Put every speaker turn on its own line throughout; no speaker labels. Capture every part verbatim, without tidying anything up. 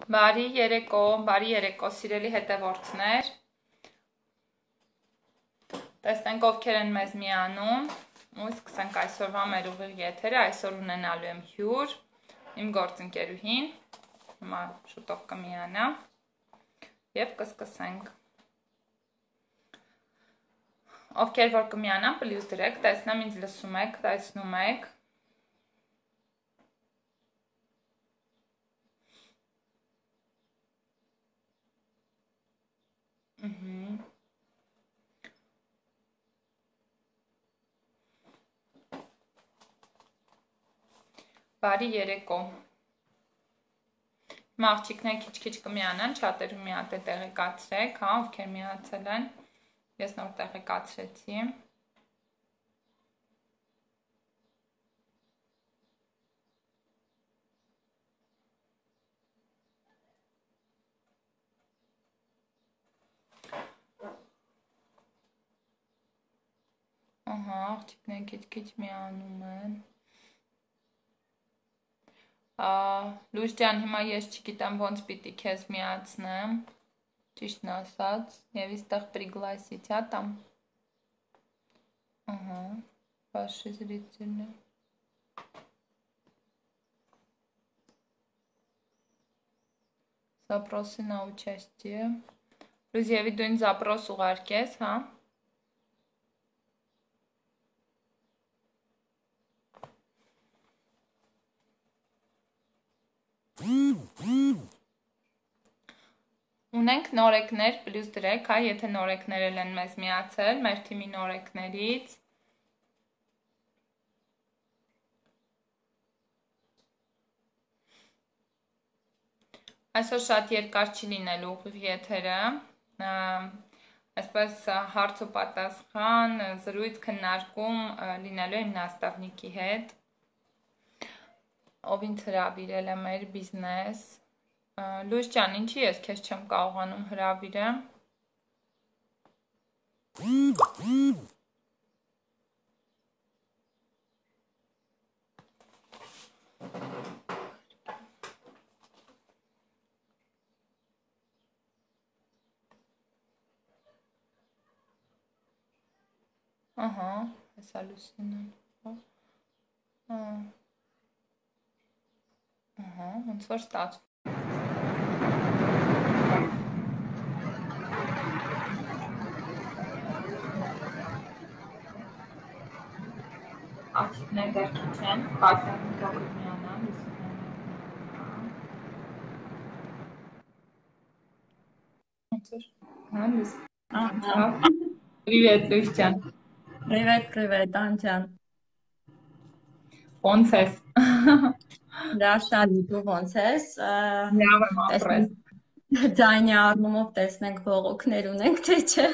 Բարի երեկո, բարի երեկո, սիրելի հետևորդներ, տեսնենք ովքեր են մեզ միանում, ու սկսենք այսօրվա մեր ուղիղ եթերը, այսօր ունենալու եմ հյուր, իմ գործընկերուհին, հիմա շուտով կմիանա, և կսկսենք, ովքեր որ կմիանան, պլյուս դրեք, տեսնեմ ինձ լսում եք, տեսնում եք, Բարի երեկո, հիմա աղջիկներ քիչ-քիչ կմիանան, չատերում մի հատ է տեղեկացրեք, հա, ովքեր միացել են, ես նոր տեղեկացրեցի, ահա, աղջիկներ քիչ-քիչ միանում են, Լույս ջան, հիմա ես չգիտեմ ոնց պիտի քեզ միացնեմ, ճիշտն ասած, և իստեղ пригласить, հա, там, ага, ваши зрители, запросы на участие, Լույս եվի դու ինձ запрос ուղարկես, հա, Ունենք նորեկներ, պլյուս դրեք, հա, եթե նորեկներ են մեզ միացել, մեր թիմի նորեկներից, այսօր շատ երկար չի լինելու ուղիղ եթերը, այսպես հարց ու պատասխան, զրույց քննարկում լինելու է իմ նաստավնիկի հետ, ով ինձ հրավիրել է մեր բիզնես, Լույս ջան, ինչի ես քեզ չեմ կարողանում հրավիրեմ, ահա, հեսա Լուսինեն, ահա, ոնց որ ստացվում, աղջիկներ դեռ քիչ են, Կատյանի թող միանան, Լուսինեն, Привет, Լույս ջան,
Привет, привет, Անջան,
ոնց ես,
Լաշալի, դու ոնց ես,
լավ եմ ապրես,
ձայնի առնումով տեսնենք բողոքներ ունենք, թե չէ,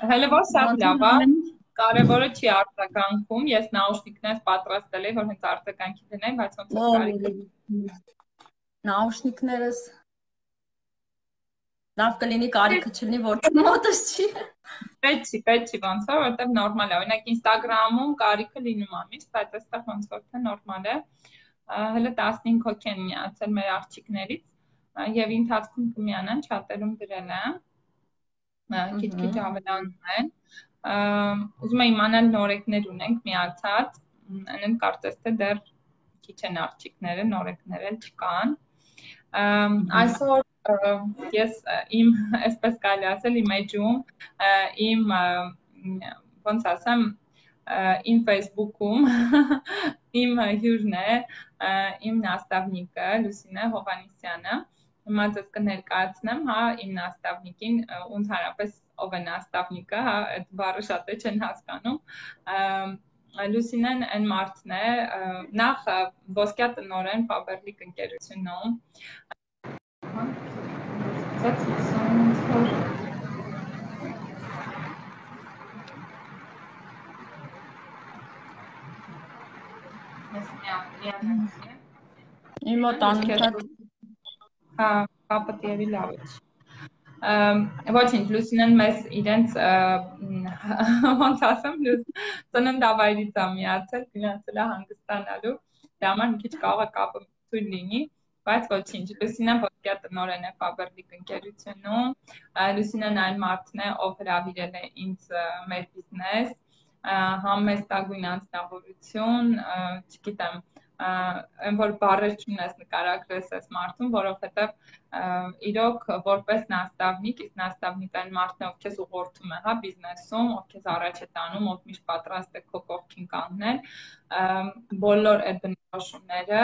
հələ որ շատ լավ է, կարևորը չի արձագանքում, ես նաուշնիկներս պատրաստել եմ, որ հենց արձագանքի դնեմ, բայց ոնց որ կարիք
Նաուշնիկներս լավ կլինի կարիքը չլինի, որ մոտս չի։
Պետք չի, պետք չի ոնց որ, որտեղ նորմալ է, օրինակ Instagram-ում կարիքը լինում է միշտ, բայց այստեղ ոնց որ թե նորմալ է, հələ տասնհինգ հոգի են միացել մեր աղջիկներից, եւ ընթացքում կմիանան, չատերում գրել եմ, քիչ-քիչ ավելանում են, ուզում եմ իմանալ նորեկներ ունենք միացած, այնեմ կարծես թե դեռ քիչ են աղջիկները, նորեկներ էլ չկան, այսօր ես իմ, այսպես կարելի ասել, իմ էջում, իմ, ոնց ասեմ, իմ Facebook-ում, իմ հյուրն է, իմ նաստավնիկը, Լուսինե Հովհաննիսյանը, հիմա ձեզ կներկայացնեմ, հա, իմ նաստավնիկին, ու ընդհանրապես ով է նաստավնիկը, հա, այդ բառը շատ է չեն հասկանում, Լուսինեն այն մարդն է, նախ ոսկյա տնօրեն Faberlic ընկերությունում,
Իմ մոտ անընդհատ
Հա, կապը տիևի լավ է։ Ոչինչ, Լուսինեն մեզ իրենց ոնց ասեմ, ծննդավայրից է միացել, գնացել է հանգստանալու, դրա համար մի քիչ կարող է կապը թույլ լինի, Բայց ոչինչ, Լուսինեն ոսկյա տնօրեն է Faberlic ընկերությունում, Լուսինեն այն մարդն է, ով հրավիրել է ինձ մեր բիզնես, համեստագույն անձնավորություն, չգիտեմ, այն որ բառեր չունես նկարագրես այս մարդուն, որովհետև իրոք որպես նաստավնիկ, իսկ նաստավնիկ այն մարդն է, ով քեզ ուղղորդում է, հա, բիզնեսում, ով քեզ առաջ է տանում, ով միշտ պատրաստ է քո կողքին կանգնել, բոլոր այդ բնորոշումները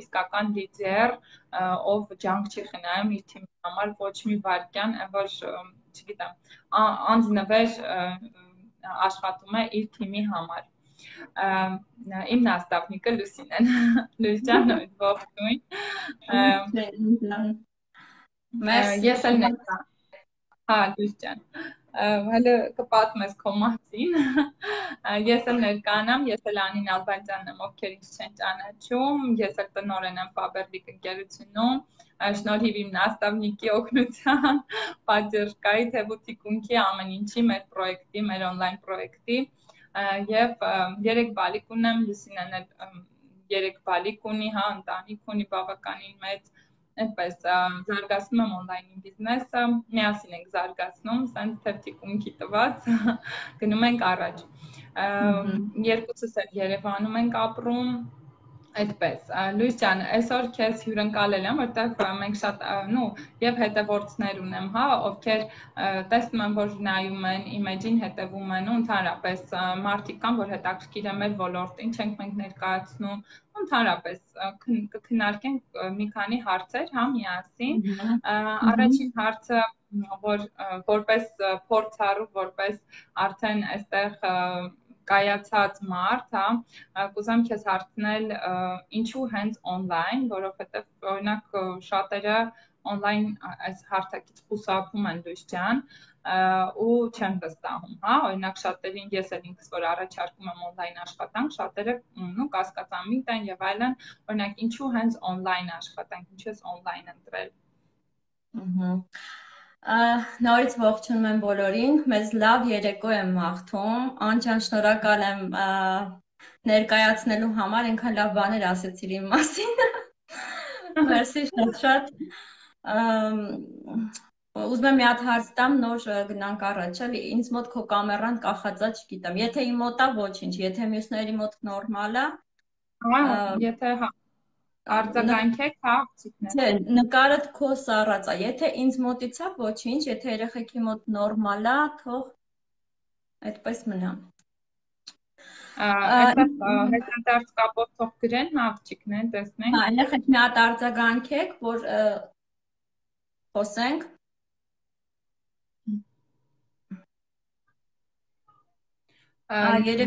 իսկական լիդեր, ով ջանք չի խնայում իր թիմի համար ոչ մի վայրկյան, այն որ, չգիտեմ, անձնվեր աշխատում է իր թիմի համար։ Իմ նաստավնիկը Լուսինեն, Լույս ջան, ողջույն։ Ես էլ ներկա, հա, Լույս ջան, հələ կպատմես քո մասին, ես էլ ներկանամ, ես էլ Անին Ալբանյանն եմ, ովքեր ինձ չեն ճանաչում, ես էլ տնօրեն եմ Faberlic ընկերությունում, շնորհիվ իմ նաստավնիկի օգնության, պատժկայի թեւուտիկունքի ամեն ինչի մեր պրոյեկտի, մեր on-line պրոյեկտի եւ երեք բալիկ ունեմ, Լուսինեն էլ երեք բալիկ ունի, հա, ընտանիք ունի բավականին մեծ, այդպես զարգացնում եմ on-line բիզնեսը, միասին ենք զարգացնում, սենց թեւտիկունքի տված գնում ենք առաջ։ Երկուսս էլ Երևանում ենք ապրում, այդպես։ Լույս ջան, այսօր քեզ հյուրընկալել եմ, որտեղ մենք շատ, նու, եւ հետևորդներ ունեմ, հա, ովքեր տեսնում են, որ նայում են, իմեջին հետևում են, ու ընդհանրապես մարդիկ կան, որ հետաքրքիր է մեր ոլորտը, ինչ ենք մենք ներկայացնում, ընդհանրապես կքննարկենք մի քանի հարցեր, հա, միասին։ Առաջին հարցը, որ որպես փորձառու, որպես արդեն այստեղ կայացած մարդ, հա, կուզեմ քեզ հարցնել, ինչու հենց on-line, որովհետև օրինակ շատերը on-line այս հարթակից խուսափում են, Լույս ջան, ու չեն վստահում, հա, օրինակ շատերին ես էլ ինքս որ առաջարկում եմ on-line աշխատանք, շատերը նու կասկածամիտ են եւ այլն, օրինակ ինչու հենց on-line աշխատանք, ինչու ես on-line ընտրել։
Ահա Նորից ողջունում եմ բոլորին, մեզ լավ երեկո եմ մաղթում, անջան շնորհակալ եմ ներկայացնելու համար, ինքան լավ բաներ ասեցիր իմ մասին, մերսի շատ շատ, ուզում եմ մի հատ հարց տամ, նոր գնանք առաջ, էլի, ինձ մոտ քո կամերան կախածա, չգիտեմ, եթե իմ մոտ է ոչինչ, եթե մյուսների մոտ նորմալ է,
եթե հա արձագանքեք, հա,
Չէ, նկարդ քո սառած է, եթե ինձ մոտից է ոչինչ, եթե երեխեքի մոտ նորմալ է, թող այդպես մնա։
Հետադարձ կապով թող գրեն, հա, աղջիկներ, տեսնենք։
Հա, երեխեք մի հատ արձագանքեք, որ խոսենք։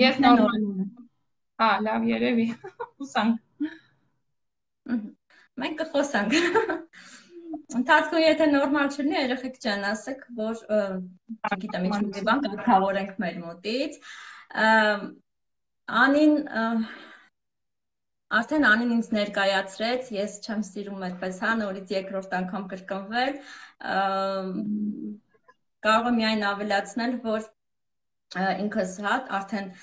Ես նորմալ եմ։ Հա, լավ երևի, հուսանք։
Մենք կխոսանք։ Ընթացքում եթե նորմալ չլինի, երեխեք ջան, ասեք, որ չգիտեմ, ինչ-որ բան կարգավորենք մեր մոտից։ Անին արդեն Անին ինձ ներկայացրեց, ես չեմ սիրում այդպես, հա, նորից երկրորդ անգամ կրկնվել։ Կարող եմ միայն ավելացնել, որ ինքս հա արդեն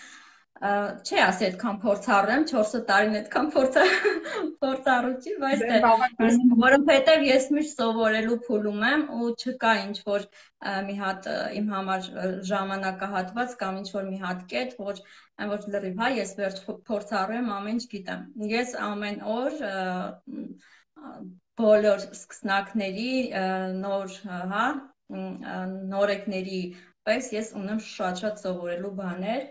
չի ասի այդքան փորձառու եմ, չորս տարին այդքան փորձառու չի, բայց որովհետև ես միշտ սովորելու փուլում եմ ու չկա ինչ-որ մի հատ իմ համար ժամանակահատված կամ ինչ-որ մի հատ կետ, որ այն որ լրիվ, հա, ես վերջ փորձառու եմ, ամեն ինչ գիտեմ։ Ես ամեն օր բոլոր սկսնակների, նոր, հա, նորեկների պես ես ունեմ շատ-շատ սովորելու բաներ,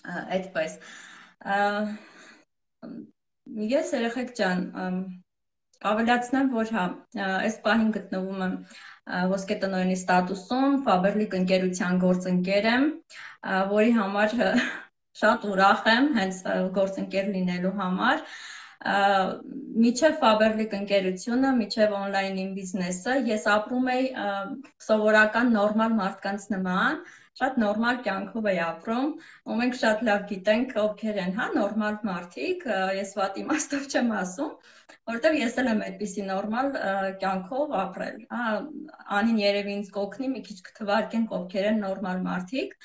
այդպես։ Ես երեխեք ջան, ավելացնեմ, որ հա, այս պահին գտնվում եմ ոսկե տնօրենի ստատուսում, Faberlic ընկերության գործընկեր եմ, որի համար շատ ուրախ եմ հենց գործընկեր լինելու համար։ Միջև Faberlic ընկերությունը, միջև on-line-ին բիզնեսը, ես ապրում էի սովորական նորմալ մարդկանց նման, շատ նորմալ կյանքով էի ապրում, ու մենք շատ լավ գիտենք ովքեր են, հա, նորմալ մարդիկ, ես վատ իմաստով չեմ ասում, որովհետև ես էլ եմ այդպիսի նորմալ կյանքով ապրել։ Հա, Անին երևի ինձ կօգնի մի քիչ կթվարկենք ովքեր են նորմալ մարդիկ։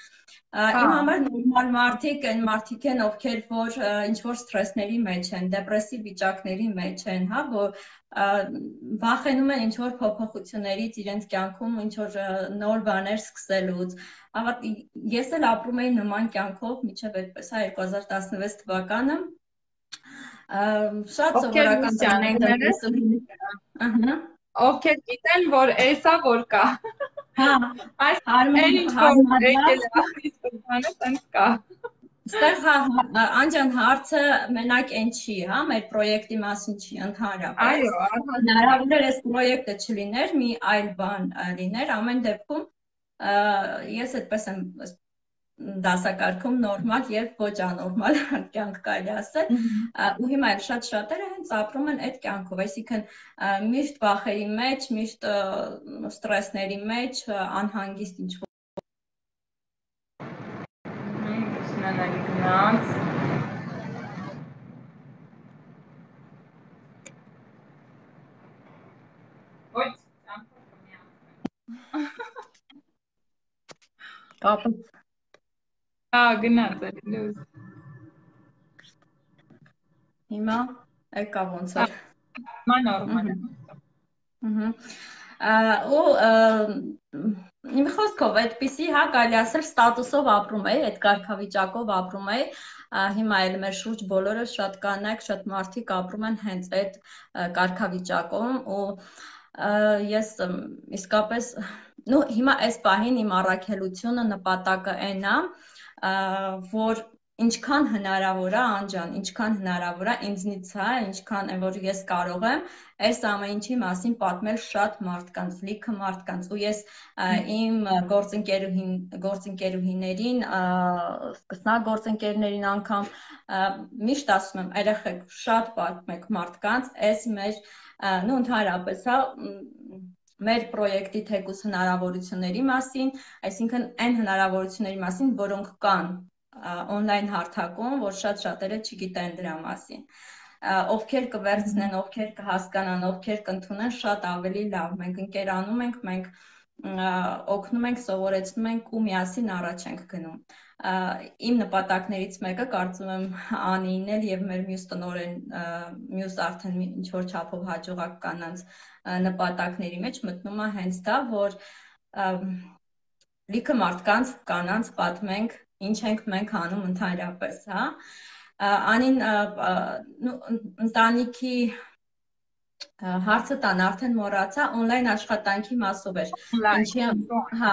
Իմ համար նորմալ մարդիկ այն մարդիկ են, ովքեր որ ինչ որ սթրեսների մեջ են, դեպրեսիվ վիճակների մեջ են, հա, որ վախենում են ինչ որ փոփոխություններից իրենց կյանքում, ինչ որ նոր բաներ սկսելուց։ Ես էլ ապրում էի նման կյանքով մինչև այդպես, հա, երկու հազար տասնվեց թվականը։ Շատ սովորական տնտեսությունից։ Ահա։
Ովքեր գիտեն, որ էսա որ կա։
Հա,
այն ինչ որ եկել է սկզբանը, տենց կա։
Ստեղ Անջան հարցը մենակ այն չի, հա, մեր պրոյեկտի մասին չի, ընդհանրապես։
Այո,
հնարավոր է այս պրոյեկտը չլիներ, մի այլ բան լիներ, ամեն դեպքում ես այդպես եմ դասակարգում նորմալ եւ ոչ անորմալ կյանք կարելի ասել, ու հիմա էլ շատ շատերը հենց ապրում են այդ կյանքով, այսինքն միշտ վախերի մեջ, միշտ ստրեսների մեջ, անհանգիստ ինչ
Նանալի գնաց։ Ոչ,
կապը
Հա, գնաց էլի լուզ։
Հիմա եկա ոնց էր։
Հիմա նորմալ է։
Ու մի խոսքով այդպիսի, հա, կարելի ասել ստատուսով ապրում էի, այդ կարգավիճակով ապրում էի, հիմա էլ մեր շուրջ բոլորը շատ կանայք, շատ մարդիկ ապրում են հենց այդ կարգավիճակում ու ես իսկապես, նու հիմա այս պահին իմ առաքելությունը նպատակը այն է, որ ինչքան հնարավոր է, Անջան, ինչքան հնարավոր է ինձնից է, ինչքան որ ես կարող եմ այս ամեն ինչի մասին պատմել շատ մարդկանց, լիքը մարդկանց ու ես իմ գործընկերուհին, գործընկերուհիներին, սկսնակ գործընկերներին անգամ միշտ ասում եմ, երեխեք շատ պատմեք մարդկանց, այս մեր, նու ընդհանրապես, հա, մեր պրոյեկտի թեկուզ հնարավորությունների մասին, այսինքն այն հնարավորությունների մասին, որոնք կան on-line հարթակում, որ շատ շատերը չգիտեն դրա մասին։ Ովքեր կվերցնեն, ովքեր կհասկանան, ովքեր կընդունեն, շատ ավելի լավ։ Մենք ընկերանում ենք, մենք օգնում ենք, սովորեցնում ենք ու միասին առաջ ենք գնում։ Իմ նպատակներից մեկը, կարծում եմ, Անին էլ եւ մեր մյուս տնօրեն, մյուս արդեն ինչ որ չափով հաջողակ կանանց նպատակների մեջ մտնում է հենց դա, որ լիքը մարդկանց, կանանց պատմենք ինչ ենք մենք անում ընդհանրապես, հա։ Անին ընտանիքի հարցը տան արդեն մոռացա, on-line աշխատանքի մասով էր։ Ինչի, հա,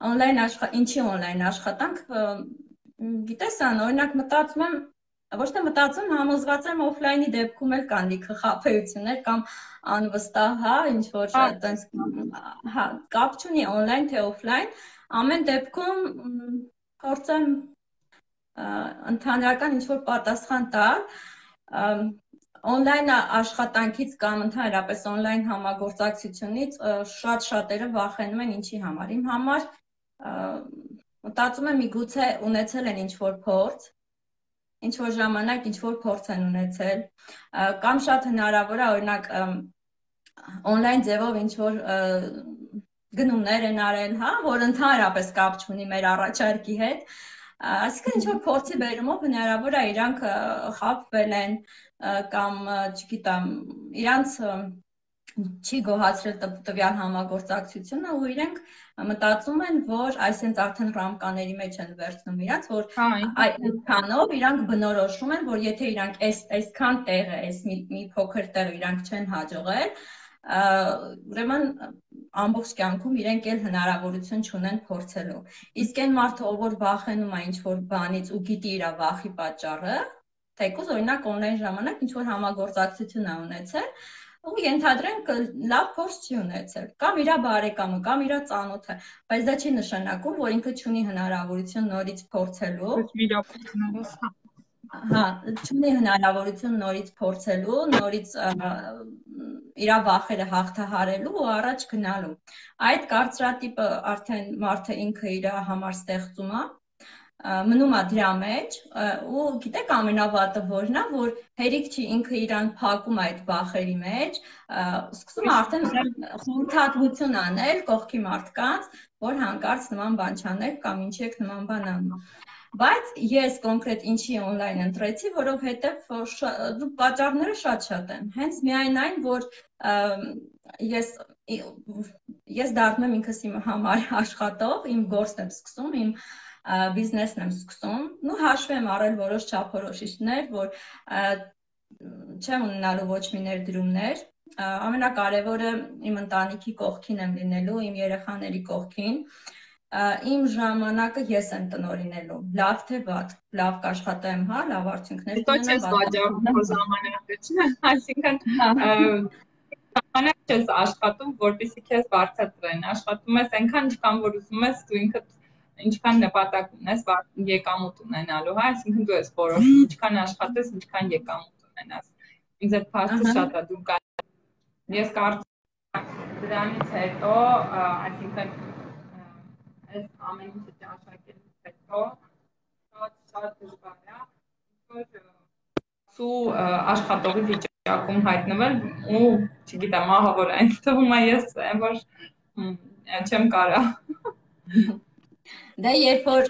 on-line աշխատ, ինչի on-line աշխատանք, գիտես ան, օրինակ մտածում եմ, ոչ թե մտածում, համոզված եմ օֆլայնի դեպքում էլ կան լիքը խաբեություններ կամ անվստահ, հա, ինչ որ այտենց, հա, կապ չունի on-line թե օֆլայն, ամեն դեպքում փորձեմ ընդհանրական ինչ որ պատասխան տալ, on-line աշխատանքից կամ ընդհանրապես on-line համագործակցությունից շատ շատերը վախենում են ինչի համար։ Իմ համար մտածում եմ միգուցե ունեցել են ինչ որ փորձ, ինչ որ ժամանակ ինչ որ փորձ են ունեցել, կամ շատ հնարավոր է օրինակ on-line ձևով ինչ որ գնումներ են արել, հա, որ ընդհանրապես կապ չունի մեր առաջարկի հետ, այսինքն ինչ որ փորձի բերումով հնարավոր է իրանք խաբվել են կամ, չգիտեմ, իրանց չի գոհացրել տվյալ համագործակցությունը ու իրենք մտածում են, որ այսինքն արդեն ռամկաների մեջ են վերցնում իրանց, որ այդքանով իրանք բնորոշում են, որ եթե իրանք այսքան տեղը, այս մի փոքր տեղը իրանք չեն հաջողել, ուրեմն ամբողջ կյանքում իրենք էլ հնարավորություն չունեն փորձելու։ Իսկ այն մարդը, ով որ վախենում է ինչ որ բանից ու գիտի իր վախի պատճառը, թեկուզ օրինակ on-line ժամանակ ինչ որ համագործակցություն է ունեցել, ու ենթադրենք լավ փորձ չի ունեցել, կամ իր բարեկամը, կամ իր ծանոթը, բայց դա չի նշանակում, որ ինքը չունի հնարավորություն նորից փորձելու։ Հա, չունի հնարավորություն նորից փորձելու, նորից իր վախերը հաղթահարելու ու առաջ գնալու։ Այդ կարծրատիպը արդեն մարդը ինքը իր համար ստեղծում է, մնում է դրա մեջ ու գիտեք ամենավատը որն է, որ հերիք չի ինքը իրան փակում այդ բախերի մեջ, սկսում է արդեն խորհրդատվություն անել կողքի մարդկանց, որ հանկարծ նման բան չանել կամ ինչի եք նման բան անում։ Բայց ես կոնկրետ ինչի օնլայն ընտրեցի, որովհետև պատճառները շատ-շատ են։ Հենց միայն այն, որ ես ես դառնում եմ ինքս իմ համար աշխատող, իմ գործն եմ սկսում, իմ բիզնեսն եմ սկսում, ու հաշվի եմ առել որոշ չափորոշիչներ, որ չեմ ունենալու ոչ մի ներդրումներ, ամենակարևորը իմ ընտանիքի կողքին եմ լինելու, իմ երեխաների կողքին, իմ ժամանակը ես եմ տնօրինելու, լավ թե վատ, լավ կաշխատեմ, հա, լավ արդյունքներ
կունենամ։ Հետո չես վաճառում ժամանակը, չէ՞, այսինքն ժամանակ չես աշխատում, որպեսզի քեզ բարձրացնեն, աշխատում ես այնքան ինչքան որ ուզում ես, դու ինքդ ինչքան նպատակ ունես եկամուտ ունենալու, հա, այսինքն դու ես որոշում, ինչքան աշխատես, ինչքան եկամուտ ունենաս։ Ինձ այդ փաստը շատ է դու կա։ Ես կարծում եմ դրանից հետո, այսինքն այս ամեն ինչը ճաշակելուց հետո շատ շատ դժվար է, որ սու աշխատողի վիճակում հայտնվել ու, չգիտեմ, ահավոր այն թվում է ես, որ չեմ կարա։
Դե երբ որ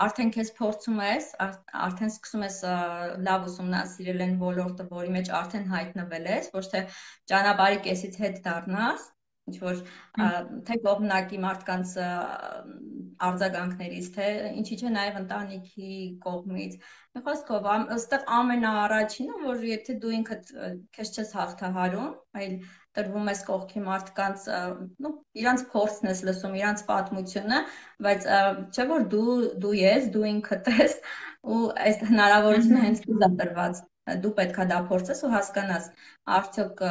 արդեն քեզ փորձում ես, արդեն սկսում ես լավ ուսումնասիրել այն ոլորտը, որի մեջ արդեն հայտնվել ես, ոչ թե ճանապարհի կեսից հետ դառնաս, ինչ որ թե կողմնակի մարդկանց արձագանքներից, թե ինչի՞ չէ նաև ընտանիքի կողմից։ Մի խոսքով, այստեղ ամենաառաջինը, որ եթե դու ինքդ քեզ չես հաղթահարում, այլ տրվում ես կողքի մարդկանց, նո, իրանց փորձն ես լսում, իրանց պատմությունը, բայց չէ որ դու դու ես, դու ինքդ ես ու այս հնարավորությունը հենց քեզ է տրված։ Դու պետքա դա փորձես ու հասկանաս, արդյոք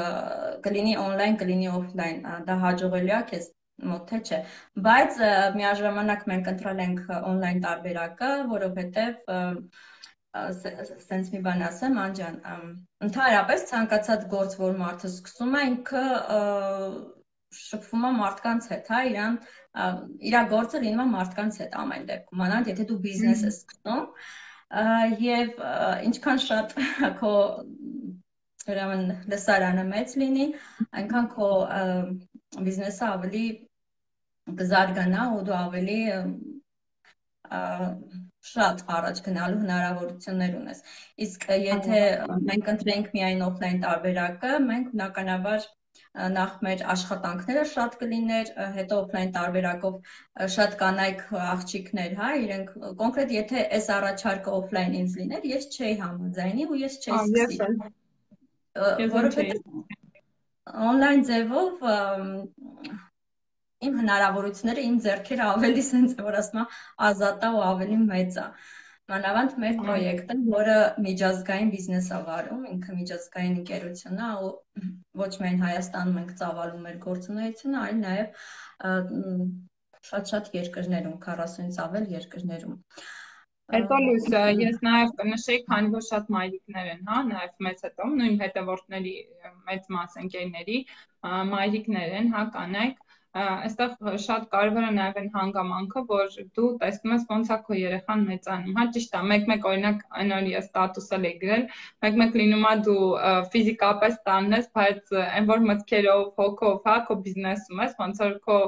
կլինի օնլայն, կլինի օֆլայն, դա հաջողելի է քեզ մոտ թե չէ։ Բայց միաժամանակ մենք ընտրել ենք օնլայն տարբերակը, որովհետև սենց մի բան ասեմ, Անջան, ընդհանրապես ցանկացած գործ, որ մարդը սկսում է, ինքը շփվում է մարդկանց հետ, հա, իրան իր գործը լինում է մարդկանց հետ ամեն դեպքում, անանդ եթե դու բիզնես ես սկսում, եւ ինչքան շատ քո ուրեմն լսարանը մեծ լինի, այնքան քո բիզնեսը ավելի կզարգանա ու դու ավելի շատ առաջ գնալու հնարավորություններ ունես։ Իսկ եթե մենք ընտրենք միայն օֆլայն տարբերակը, մենք բնականաբար նախ մեր աշխատանքները շատ կլիներ, հետո օֆլայն տարբերակով շատ կանայք աղջիկներ, հա, իրենք կոնկրետ եթե այս առաջարկը օֆլայն ինձ լիներ, ես չէի համաձայնի ու ես չէի սկսի։ Որովհետև օնլայն ձևով իմ հնարավորությունները, իմ ձեռքերը ավելի սենց որ ասում եմ ազատ է ու ավելի մեծ է։ Մանավանդ մեր պրոյեկտը, որը միջազգային բիզնես է վարում, ինքը միջազգային ընկերություն է ու ոչ միայն Հայաստանում ենք ծավալում մեր գործունեությունը, այլ նաև շատ-շատ երկրներում, քառասունից ավել երկրներում։
Հետո լույս, ես նաև կնշեի, քանի որ շատ մայրիկներ են, հա, նաև մեծ հետո, նույն հետևորդների մեծ մաս ընկերների մայրիկներ են, հա, կանայք, այստեղ շատ կարևոր է նաև այն հանգամանքը, որ դու տեսնում ես ոնց է քո երեխան մեծանում, հա, ճիշտ է, մեկ-մեկ օրինակ այն որ ես ստատուսել էի գրել, մեկ-մեկ լինում է դու ֆիզիկապես տանն ես, բայց այն որ մտքերով, հոգով, հա, քո բիզնեսում ես, ոնց որ քո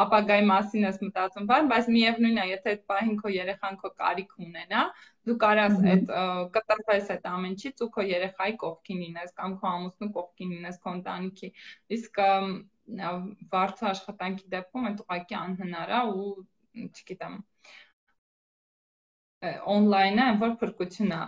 ապագայի մասին ես մտածում, բայց միևնույնն է, եթե այդ պահին քո երեխան քո կարիք ունենա, դու կարաս այդ կտրվես այդ ամեն ինչից ու քո երեխայի կողքին լինես կամ քո ամուսնու կողքին լինես, քո ընտանիքի, իսկ վարձու աշխատանքի դեպքում այդ ուղղակի անհնար է ու չգիտեմ օնլայնը այն որ փրկություն է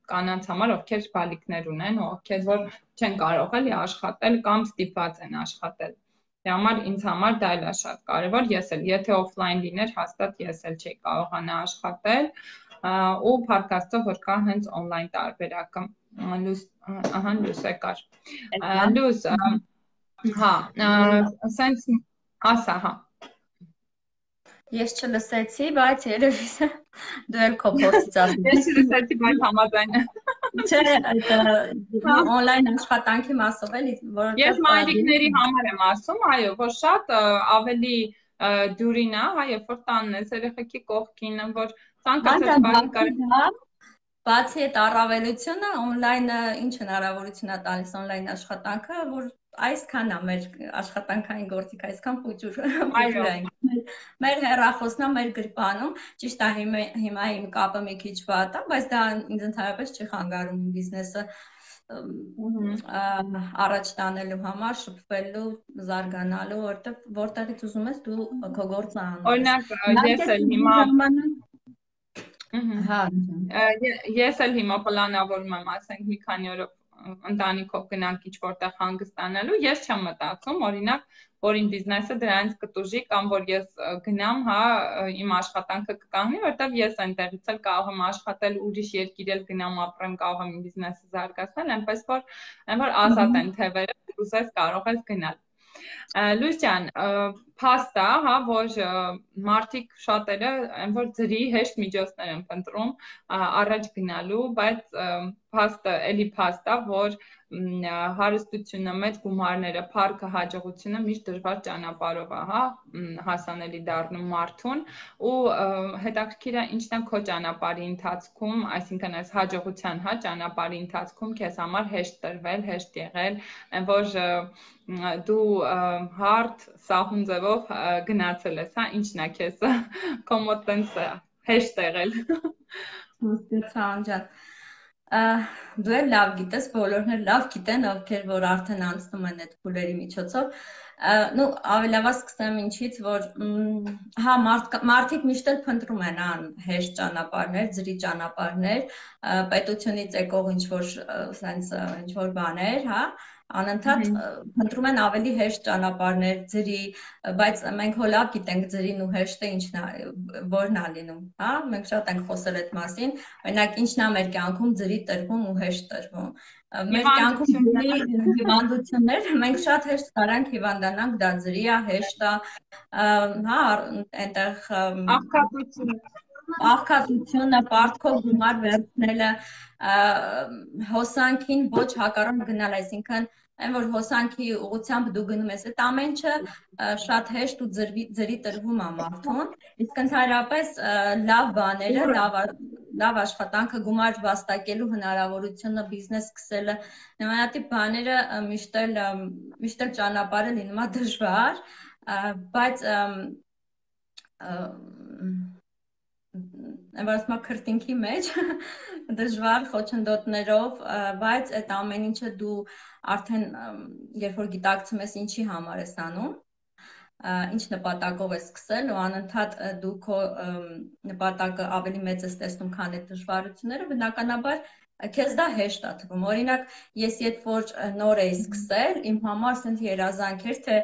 կանանց համար, ովքեր բալիկներ ունեն, ովքեր որ չեն կարող էլի աշխատել կամ ստիպված են աշխատել։ Դրա համար ինձ համար դա էլ է շատ կարևոր, ես էլ եթե օֆլայն լիներ, հաստատ ես էլ չէի կարողանա աշխատել ու փառք Աստծո, որ կա հենց օնլայն տարբերակը։ Լույս, ահա լույս եկար։ Լույս, հա, սենց ասա, հա։
Ես չլսեցի, բայց երևի դու էլ քո փորձից ասում
ես։ Ես չլսեցի, բայց համաձայն եմ։
Չէ, այդ օնլայն աշխատանքի մասով էլի, որովհետև
ես մայրիկների համար եմ ասում, այո, որ շատ ավելի դյուրին է, հա, երբ որ տանն ես, երեխեքի կողքին, որ ցանկացած բանի կարող
բացի այդ առավելությունը on-line-ը ինչ հնարավորություն է տալիս on-line աշխատանքը, որ այսքան է մեր աշխատանքային գործիք, այսքան փոճուր փոճուր է մեր հեռախոսն է մեր գրպանում, ճիշտ է հիմա իմ կապը մի քիչ վատ է, բայց դա ինձ ընդհանրապես չի խանգարում բիզնեսը առաջ տանելու համար, շփվելու, զարգանալու, որտեղ որտեղից ուզում ես դու քո գործը անում ես։
Օրինակ, ես էլ հիմա Հա, ես էլ հիմա պլանավորում եմ, ասենք մի քանի օրով ընտանիքով գնանք ինչ-որտեղ հանգստանալու, ես չեմ մտածում, օրինակ, որ իմ բիզնեսը դրանից կտուժի կամ որ ես գնամ, հա, իմ աշխատանքը կկանգնի, որտեղ ես այնտեղից էլ կարող եմ աշխատել, ուրիշ երկիր էլ գնամ ապրեմ, կարող եմ իմ բիզնեսը զարգացնել, այնպես որ այն որ ազատ են թևերը, ուզես կարող ես գնալ։ Լույս ջան, փաստա, հա, որ մարդիկ շատերը այն որ ձրի հեշտ միջոցներ են փնտրում առաջ գնալու, բայց փաստը, էլի փաստա, որ հարստությունը, մեծ գումարները, փառքը, հաջողությունը միշտ դժվար ճանապարհով է, հա, հասանելի դառնում մարդուն ու հետաքրքիր է ինչն է քո ճանապարհի ընթացքում, այսինքն այս հաջողության, հա, ճանապարհի ընթացքում քեզ համար հեշտ տրվել, հեշտ եղել, այն որ դու հարթ սահուն ձևով գնացել ես, հա, ինչն է քեզ քո մոտ տենց հեշտ եղել։
Հասկացա ջան։ Դու էլ լավ գիտես, բոլորն էլ լավ գիտեն, ովքեր որ արդեն անցնում են այդ փուլերի միջոցով։ Ну, ավելավա սկսեմ ինչից, որ հա մարդիկ միշտ էլ փնտրում են ան հեշտ ճանապարհներ, ձրի ճանապարհներ, պետությունից եկող ինչ-որ sense ինչ-որ բաներ, հա, անընդհատ փնտրում են ավելի հեշտ ճանապարհներ, ձրի, բայց մենք հո լավ գիտենք ձրին ու հեշտը ինչն է, որն է լինում, հա, մենք շատ ենք խոսել այդ մասին, օրինակ ինչն է մեր կյանքում ձրի տրվում ու հեշտ տրվում։ Մեր կյանքում ձրի հիվանդություններ, մենք շատ հեշտ կարանք հիվանդանանք, դա ձրի է, հեշտ է, հա, այնտեղ
աղքատությունը,
աղքատությունը, պարտքով գումար վերցնելը, հոսանքին ոչ հակառակ գնալ, այսինքն այն որ հոսանքի ուղղությամբ դու գնում ես, այդ ամեն ինչը շատ հեշտ ու ձրի տրվում է մարդուն, իսկ ընդհանրապես լավ բաները, լավ լավ աշխատանքը, գումար վաստակելու հնարավորությունը, բիզնես սկսելը, նմանատիպ բաները միշտ էլ միշտ էլ ճանապարհը լինում է դժվար, բայց ասում եմ քրտինքի մեջ դժվար խոչընդոտներով, բայց այդ ամեն ինչը դու արդեն երբ որ գիտակցում ես ինչի համար ես անում, ինչ նպատակով ես սկսել ու անընդհատ դու քո նպատակը ավելի մեծ ես տեսնում, քան այդ դժվարությունները, բնականաբար քեզ դա հեշտ է թվում։ Օրինակ, ես երբ որ նոր էի սկսել, իմ համար ասենց երազանք էր, թե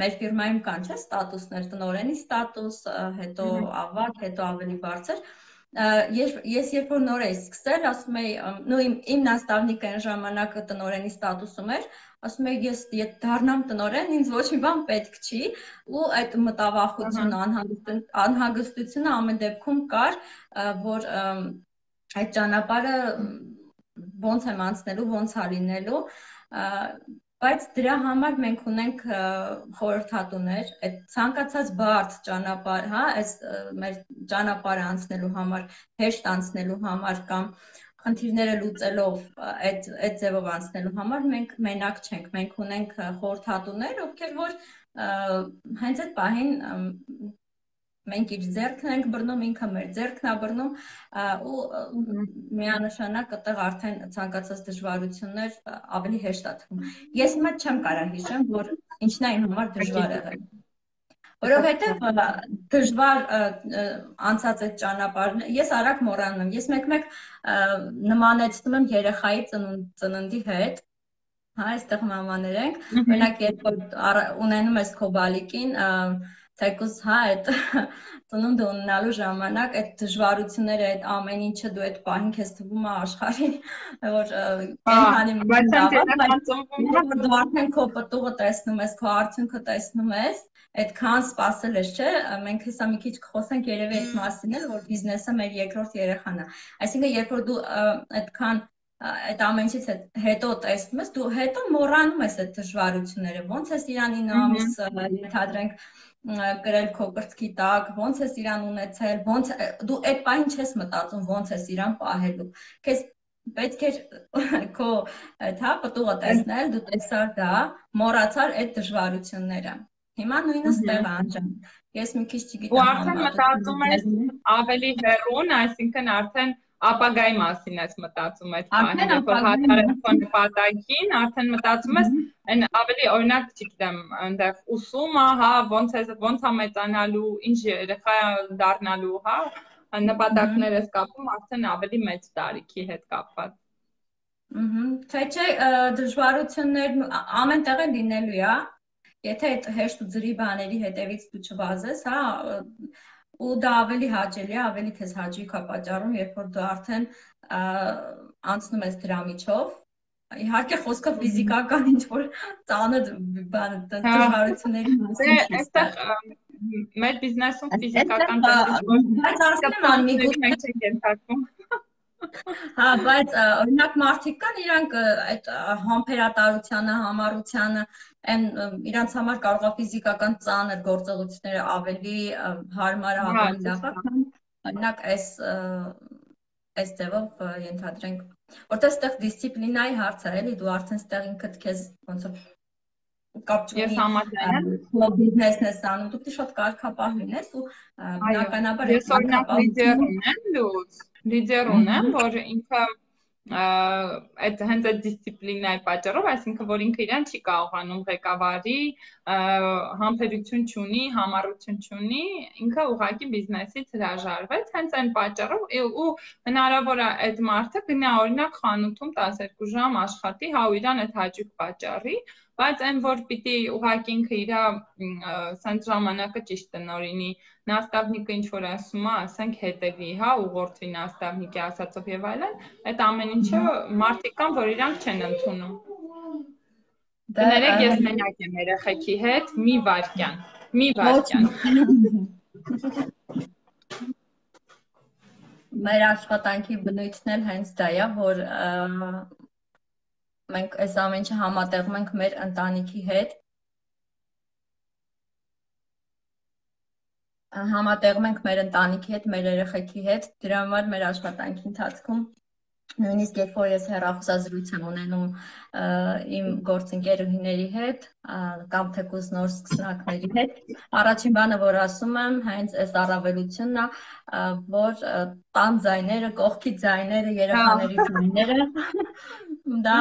մեր ֆիրմայում կան չէ ստատուսներ, տնօրենի ստատուս, հետո ավագ, հետո ավելի բարձր։ Ես երբ որ նոր էի սկսել, ասում էի, նո իմ նաստավնիկը այն ժամանակ տնօրենի ստատուսում էր, ասում էի ես եթե դառնամ տնօրեն, ինձ ոչ մի բան պետք չի, ու այդ մտավախությունը, անհանգստությունը ամեն դեպքում կար, որ այդ ճանապարհը ոնց եմ անցնելու, ոնց է լինելու, բայց դրա համար մենք ունենք խորհրդատուներ, այդ ցանկացած բարդ ճանապարհ, հա, այս մեր ճանապարհը անցնելու համար, հեշտ անցնելու համար կամ խնդիրները լուծելով այդ այդ ձևով անցնելու համար մենք մենակ չենք, մենք ունենք խորհրդատուներ, ովքեր որ հենց այդ պահին մենք իր ձեռքն ենք բռնում, ինքը մեր ձեռքն է բռնում ու միանշանակ այդտեղ արդեն ցանկացած դժվարություններ ավելի հեշտ է թվում։ Ես հիմա չեմ կարող հիշեմ, որ ինչն է իմ համար դժվար եղել։ Որովհետև դժվար անցած այդ ճանապարհն ես արագ մոռանում եմ։ Ես մեկ-մեկ նմանեցնում եմ երեխայի ծննդի հետ, հա, այստեղ մամաներ ենք, օրինակ երբ որ ունենում ես քո բալիկին, թեկուզ հա այդ ծնունդը ունենալու ժամանակ այդ դժվարությունները, այդ ամեն ինչը դու այդ պահին քեզ թվում է աշխարհի, որ կենթանի մտավ, դու արդեն քո պտուղը տեսնում ես, քո արդյունքը տեսնում ես, այդքան սпасել ես, չէ՞, մենք հեսա մի քիչ խոսենք երևի այդ մասին էլ, որ բիզնեսը մեր երկրորդ երեխան է։ Այսինքն երբ որ դու այդքան այդ ամենից հետո տեսնում ես, դու հետո մոռանում ես այդ դժվարությունները, ոնց ես իրան ինը ամիս ենթադրենք գրել քո կրծքի տակ, ոնց ես իրան ունեցել, ոնց դու այդ պահին չես մտածում ոնց ես իրան պահելու։ Քեզ պետք է քո թա պտուղը տեսնել, դու տեսար դա, մոռացար այդ դժվարությունները։ Հիմա նույնը ստեղ անջան։ Ես մի քիչ չգիտեմ։
Ու արդեն մտածում ես ավելի հեռուն, այսինքն արդեն ապագայի մասին ես մտածում այդ բանը, որ հատարես քո նպատակին, արդեն մտածում ես այն ավելի օրինակ, չգիտեմ, այնտեղ ուսումը, հա, ոնց է ոնց է մեծանալու, ինչ երեխա դառնալու, հա, նպատակներ ես կապում արդեն ավելի մեծ տարիքի հետ կապված։
Ահա, չէ, չէ, դժվարություններն ամեն տեղ լինելու է, եթե այդ հեշտ ու ծրի բաների հետևից դու չվազես, հա, ու դա ավելի հաճելի է, ավելի քեզ հաճույք է պատճառում, երբ որ դու արդեն անցնում ես դրա միջով։ Իհարկե խոսքը ֆիզիկական ինչ-որ ծանր բան դժվարությունների մասին չի։
Այստեղ մեր բիզնեսում ֆիզիկական
բայց արդեն միգուցե չենք ենթարկվում։ Հա, բայց օրինակ մարդիկ կան, իրանք այդ համբերատարությանը, համառությանը, այն իրանց համար կարող է ֆիզիկական ծանր գործողությունները ավելի հարմար, ավելի լավ, օրինակ այս այս ձևով ենթադրենք, որտեղ այստեղ դիսցիպլինայի հարց է, էլի, դու արդեն այստեղ ինքդ քեզ ոնց որ կապ չունի։
Ես համաձայն եմ։
Քո բիզնեսն ես անում, դու պետք է շատ կարգապահ լինես ու բնականաբար
ես օրինակ լիդեր ունեմ, լուծ լիդեր ունեմ, որ ինքը այդ հենց այդ դիսցիպլինայի պատճառով, այսինքն որ ինքը իրան չի կարողանում ղեկավարի, համբերություն չունի, համառություն չունի, ինքը ուղղակի բիզնեսից հրաժարվեց, հենց այն պատճառով ու հնարավոր է այդ մարդը գնա օրինակ խանութում տասներկու ժամ աշխատի, հա ու իրան այդ հաճույք պատճառի, բայց այն որ պիտի ուղղակի ինքը իր սենց ժամանակը ճիշտ տնօրինի, նաստավնիկը ինչ որ ասում է, ասենք հետևի, հա, ուղղորդվի նաստավնիկի ասածով եւ այլն, այդ ամեն ինչը մարդիկ կան, որ իրանք չեն ընդունում։ Կներեք, ես մենակ եմ երեխեքի հետ, մի վայրկյան, մի վայրկյան։
Մեր աշխատանքի բնույթն էլ հենց դա է, որ մենք այս ամեն ինչը համատեղում ենք մեր ընտանիքի հետ, համատեղում ենք մեր ընտանիքի հետ, մեր երեխեքի հետ, դրա համար մեր աշխատանքի ընթացքում նույնիսկ երբ որ ես հեռախոսազրույց եմ ունենում իմ գործընկերուհիների հետ կամ թեկուզ նոր սկսնակների հետ, առաջին բանը որ ասում եմ հենց այս առավելությունն է, որ տան ձայները, կողքի ձայները, երեխաների ձայները դա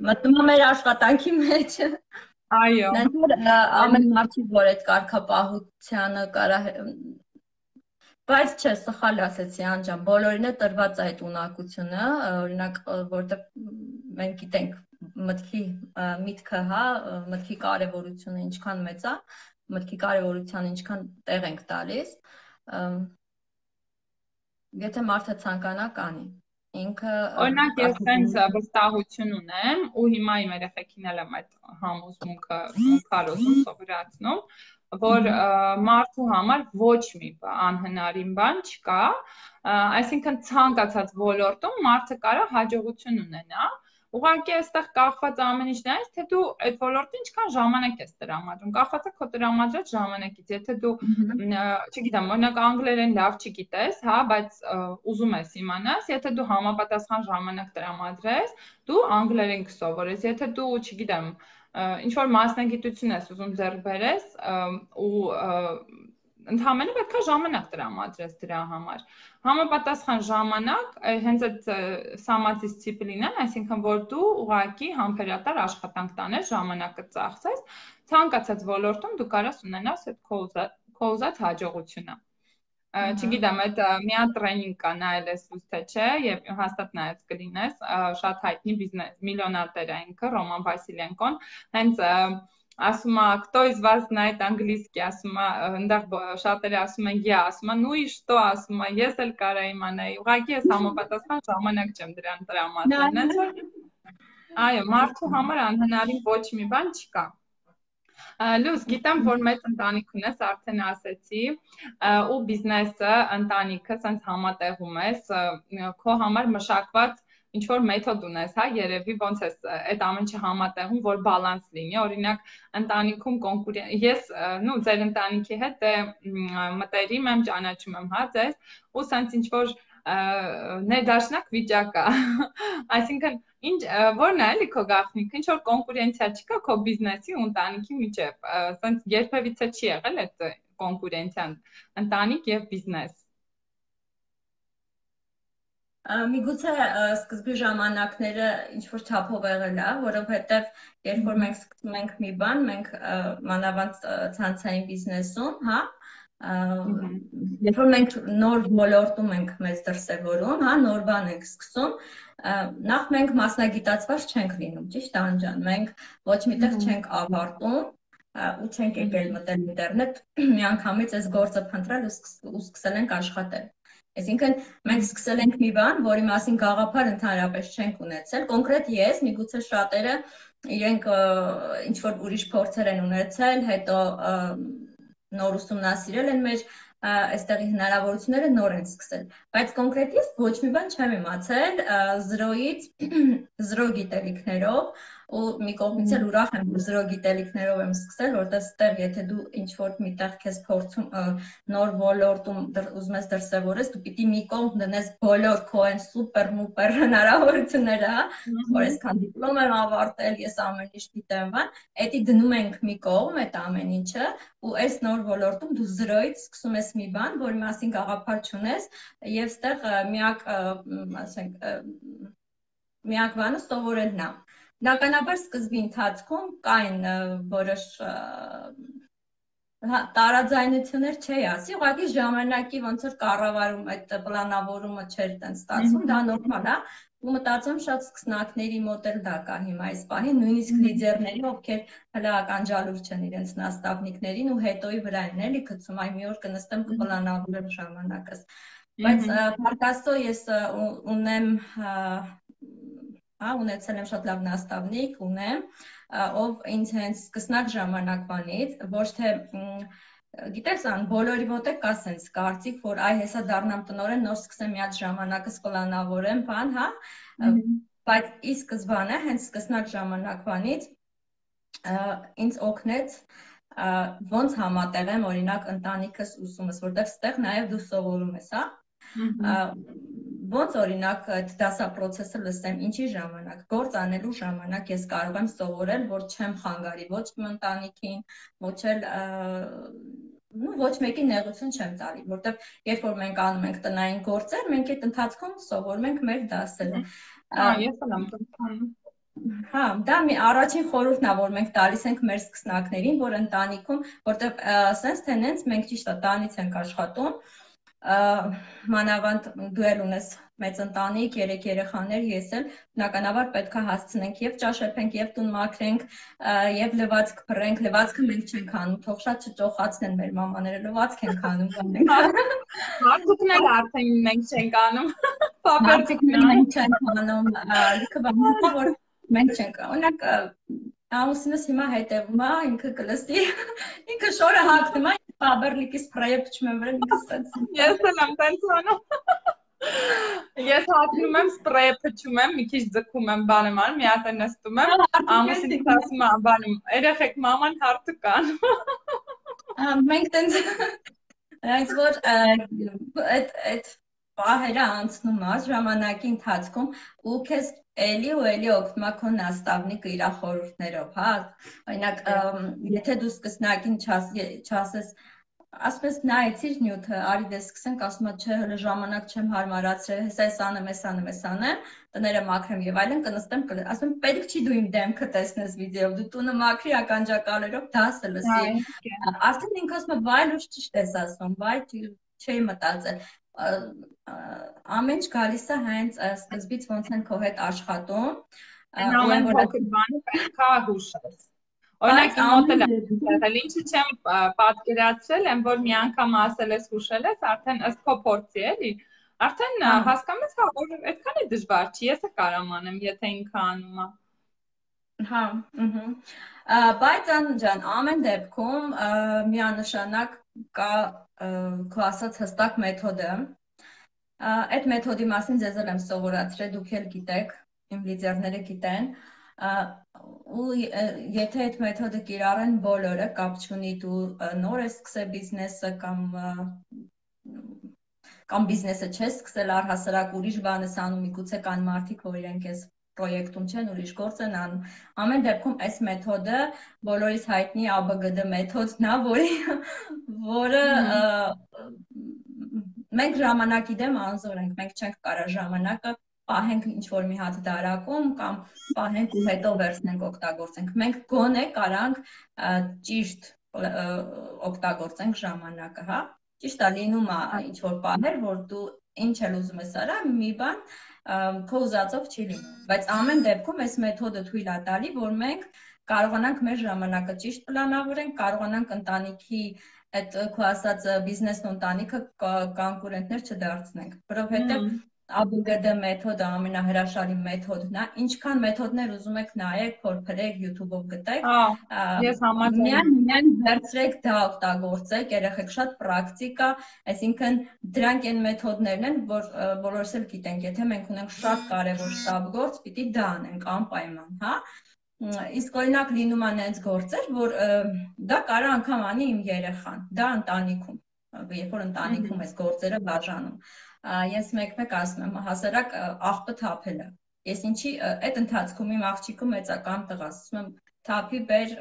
մտնում է մեր աշխատանքի մեջ։
Այո։
Ամեն մարդի որ այդ կարգապահությանը կարա բայց չէ, սխալ ասեցի անջան, բոլորին է տրված այդ ունակությունը, օրինակ, որտեղ մենք գիտենք մտքի միտքը, հա, մտքի կարևորությունը ինչքան մեծ է, մտքի կարևորությանը ինչքան տեղ ենք տալիս, եթե մարդը ցանկանա կանի, ինքը
օրինակ ես տենց վստահություն ունեմ ու հիմա իմ երեխեքին էլ եմ այդ համոզմունքը քարոզում, սովորացնում, որ մարդու համար ոչ մի անհնարին բան չկա, այսինքն ցանկացած ոլորտում մարդը կարող հաջողություն ունենա, ուղղակի այստեղ կախված ամեն ինչն է, թե դու այդ ոլորտին ինչքան ժամանակ ես տրամադրում, կախված է քո տրամադրած ժամանակից, եթե դու, չգիտեմ, օրինակ անգլերեն լավ չգիտես, հա, բայց ուզում ես իմանաս, եթե դու համապատասխան ժամանակ տրամադրես, դու անգլերեն կսովորես, եթե դու, չգիտեմ, ինչ-որ մասնագիտություն ես ուզում ձեռք բերես ու ընդհանրապես պետք է ժամանակ տրամադրես դրա համար։ Համապատասխան ժամանակ, հենց այդ սամադիսցիպլինան, այսինքն որ դու ուղղակի համբերատար աշխատանք տանես, ժամանակը ծախսես, ցանկացած ոլորտում դու կարաս ունենաս այդ քո ուզած հաջողությունը։ Չգիտեմ, այդ մի հատ տրեյնինգ կա, նայել ես ուս թե չէ, եւ հաստատ նայած կլինես, շատ հայտնի բիզնես միլիոնատեր է ինքը, Ռոման Վասիլենկոն, հենց ասում է, кто из вас знает английский, ասում է, այնտեղ շատերը ասում են, я, ասում է, ну и что, ասում է, ես էլ կարա իմանայի, ուղղակի ես համապատասխան ժամանակ չեմ դրան տրամադրել։ Այո, մարդու համար անհնարին ոչ մի բան չկա։ Լուս, գիտեմ, որ մեծ ընտանիք ունես, արդեն ասեցի, ու բիզնեսը, ընտանիքը սենց համատեղում ես, քո համար մշակված ինչ որ մեթոդ ունես, հա, երևի ոնց է այդ ամեն ինչը համատեղում, որ բալանս լինի, օրինակ ընտանիքում կոնկուրենտ, ես նու ձեր ընտանիքի հետ դե մտերիմ եմ, ճանաչում եմ, հա, ձեզ, ու սենց ինչ որ ներդաշնակ վիճակ է, այսինքն ինչ որն է էլի քո գաղտնիքը, ինչ որ կոնկուրենցիա չկա քո բիզնեսի ու ընտանիքի միջև, սենց երբևիցե չի եղել այդ կոնկուրենցիան, ընտանիք եւ բիզնես։
Միգուցե սկզբի ժամանակները ինչ-որ չափով եղել է, որովհետև երբ որ մենք սկսում ենք մի բան, մենք մանավանդ ցանցային բիզնեսում, հա, երբ որ մենք նոր ոլորտում ենք մեզ դրսևորում, հա, նոր բան ենք սկսում, նախ մենք մասնագիտացված չենք լինում, ճիշտ է Անջան, մենք ոչ միտեղ չենք ավարտում ու չենք եկել մտել ինտերնետ, միանգամից այս գործը փնտրել ու սկսել ենք աշխատել։ Այսինքն մենք սկսել ենք մի բան, որի մասին գաղափար ընդհանրապես չենք ունեցել, կոնկրետ ես, միգուցե շատերը իրենք ինչ որ ուրիշ փորձեր են ունեցել, հետո նոր ուսումնասիրել են մեր այստեղի հնարավորությունները նոր են սկսել, բայց կոնկրետ ես ոչ մի բան չեմ իմացել զրոյից, զրո գիտելիքներով ու մի կողմից էլ ուրախ եմ, որ զրո գիտելիքներով եմ սկսել, որտեղ ստեղ եթե դու ինչ-որ միտեղ քեզ փորձում նոր ոլորտում ուզում ես դրսևորես, դու պիտի մի կողմ դնես բոլոր քո այն սուպեր մուպեր հնարավորությունները, հա, որ այսքան դիպլոմ եմ ավարտել, ես ամեն ինչ գիտեմ, բան, էդի դնում ենք մի կողմ այդ ամեն ինչը, ու այս նոր ոլորտում դու զրոյից սկսում ես մի բան, որի մասին գաղափար չունես, եւ ստեղ միակ, ասենք, միակ բանը սովորելն է։ Բնականաբար սկզբի ընթացքում կային որոշ տարաձայնություններ չի ասի, ուղղակի ժամանակի ոնց որ կառավարում այդ պլանավորումը չէր տենց ստացվում, դա նորմալ է, ու մտածում շատ սկսնակների մոտ էլ դա կա հիմա այս պահին, նույնիսկ լիդերների, ովքեր հələ ականջալուր չեն իրենց նաստավնիկներին ու հետոյի վրա են էլի գցում, այ մի օր կնստեմ կպլանավորեմ ժամանակս։ Բայց փառքաստո ես ունեմ Հա, ունեցել եմ շատ լավ նաստավնիկ, ունեմ, ով ինձ հենց սկսնակ ժամանակվանից, ոչ թե, գիտես ան, բոլորի մոտ է կա սենց կարծիք, որ այ հեսա դառնամ տնօրեն, նոր սկսեմ մի հատ ժամանակս պլանավորեմ, բան, հա, բայց ի սկզբանե, հենց սկսնակ ժամանակվանից ինձ օգնեց ոնց համատեղեմ օրինակ ընտանիքս ուսումս, որտեղ ստեղ նաև դու սովորում ես, հա, ոնց օրինակ այդ դասապրոցեսը լսեմ, ինչի ժամանակ, գործ անելու ժամանակ ես կարող եմ սովորել, որ չեմ խանգարի ոչ իմ ընտանիքին, ոչ էլ ոչ մեկի նեղություն չեմ տալի, որտեղ երբ որ մենք անում ենք տնային գործեր, մենք այդ ընթացքում սովորում ենք մեր դասերը։
Հա, ես էլ եմ անում։
Հա, դա մի առաջին խորհուրդն է, որ մենք տալիս ենք մեր սկսնակներին, որ ընտանիքում, որտեղ սենց թե նենց մենք ճիշտ է տանից ենք աշխատում, մանավանդ դու էլ ունես մեծ ընտանիք, երեք երեխաներ, ես էլ բնականաբար պետք է հասցնենք եւ ճաշեփենք, եւ տուն մաքրենք, եւ լվացք փռենք, լվացքը մենք չենք անում, թող շատ չճոխացնեն մեր մամաները, լվացք ենք անում,
մարդուկն էլ արդեն մենք չենք անում,
մարդուկն էլ մենք չենք անում, լիքը բաներ, որ մենք չենք, օրինակ ամուսինս հիմա հետևում է, ինքը կլսի, ինքը շորը հագնում է, Ֆաբերլիկի սպրեյը փչում եմ վրա, ինքը սենց։
Ես էլ եմ տենց անում։ Ես հագնում եմ սպրեյը փչում եմ, մի քիչ ձգում եմ, բան եմ անում, մի հատ էլ նստում եմ, ամուսինս ասում է, բանում, երեխեք մաման հարթուկ կան։
Մենք տենց, այս որ այդ պահերը անցնում է ժամանակի ընթացքում ու քեզ էլի ու էլի օգնում է քո նաստավնիկը իր խորհուրդներով, հա, օրինակ եթե դու սկսնակին չասես, ասում ես նայեցիր նյութը, արի դե սկսենք, ասում է չէ, հələ ժամանակ չեմ հարմարացրել, հեսա էս անեմ, էս անեմ, էս անեմ, տները մաքրեմ եւ այլն, կնստեմ, ասում եմ պետք չի դու իմ դեմքը տեսնես վիդեոյով, դու տունը մաքրի ականջակալերով դասը լսի, արդեն ինքը ասում է վայ լույս ճիշտ ես ասում, վայ չի մտածել, ամեն ինչ գալիս է հենց սկզբից ոնց են քո հետ աշխատում,
ամեն փոքր բանը պետք է հուշես։ Օրինակ իմ մոտ էլ եղել, ինչի չեմ պատկերացրել, եմ որ մի անգամ ասել ես հուշել ես, արդեն ըստ քո փորձի էլի, արդեն հասկանում ես, հա, որ այդքան է դժվար չի, ես կարամ անեմ, եթե ինքը անում է։
Հա, բայց Անջան, ամեն դեպքում միանշանակ կա քո ասած հստակ մեթոդը, որը ինձ համար շատ օգտակար է, որովհետև Այդ մեթոդի մասին ձեզ էլ եմ սովորացրել, դուք էլ գիտեք, իմ լիդերները գիտեն, ու եթե այդ մեթոդը կիրառեն բոլորը, կապ չունի դու նոր ես սկսել բիզնեսը կամ կամ բիզնեսը չես սկսել, առհասարակ ուրիշ բան ես անում, միգուցե կան մարդիկ, որ իրենք ես պրոյեկտում չեն, ուրիշ գործ են անում։ Ամեն դեպքում այս մեթոդը բոլորիս հայտնի ա բը գը դե մեթոդն է, որի որը մենք ժամանակի դեմ անզոր ենք, մենք չենք կարող ժամանակը պահենք ինչ-որ մի հատ դարակում կամ պահենք ու հետո վերցնենք օգտագործենք։ Մենք գոնե կարանք ճիշտ օգտագործենք ժամանակը, հա։ Ճիշտ է, լինում է ինչ-որ բաներ, որ դու ինչ էլ ուզում ես արա, մի բան քո ուզածով չի լինում, բայց ամեն դեպքում այս մեթոդը թույլ է տալի, որ մենք կարողանանք մեր ժամանակը ճիշտ պլանավորենք, կարողանանք ընտանիքի այդ քո ասած բիզնեսն ու ընտանիքը կոնկուրենտներ չդարձնենք, որովհետև ա բը գը դե մեթոդը ամենահրաշալի մեթոդն է, ինչքան մեթոդներ ուզում եք նայեք, փորփրեք, YouTube-ով գտեք,
ես համաձայն
միայն միայն վերցրեք դա օգտագործեք, երեխեք շատ պրակտիկ է, այսինքն դրանք այն մեթոդներն են, որ բոլորս էլ գիտենք, եթե մենք ունենք շատ կարևոր շտապ գործ, պիտի դա անենք անպայման, հա։ Իսկ օրինակ լինում է այնց գործեր, որ դա կարող անգամ անի իմ երեխան, դա ընտանիքում, երբ որ ընտանիքում ես գործերը բաժանում։ Ես մեկ-մեկ ասում եմ, հասարակ աղբը թափելը։ Ես ինչի այդ ընթացքում իմ աղջիկը մեծական տղաս, ասում եմ թափի բեր,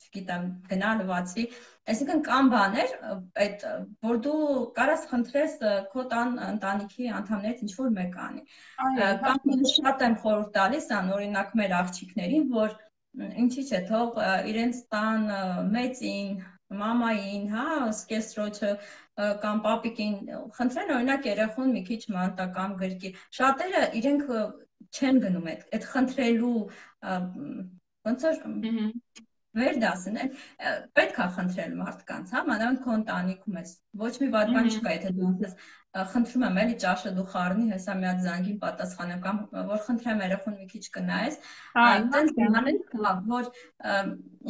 չգիտեմ, գնա լվացվի, այսինքն կան բաներ, այդ որ դու կարաս խնդրես քո տան ընտանիքի անդամներից ինչ որ մեկ անի։ Կամ շատ եմ խորհուրդ տալիս ան, օրինակ մեր աղջիկներին, որ ինչի՞ չէ, թող իրենց տան մեծին, մամային, հա, սկեսրոջը կամ պապիկին խնդրեն օրինակ երեխուն մի քիչ մանտական գրկի։ Շատերը իրենք չեն գնում այդ այդ խնդրելու ոնց որ վեր դասն է, պետք է խնդրել մարդկանց, հա, մանավանդ քո ընտանիքում ես։ Ոչ մի վատ բան չկա, եթե դու ասես խնդրում եմ էլի ճաշը դու խառնի, հեսա մի հատ զանգին պատասխանեմ կամ որ խնդրեմ երեխուն մի քիչ կնայես, այդպես բաներ կա, որ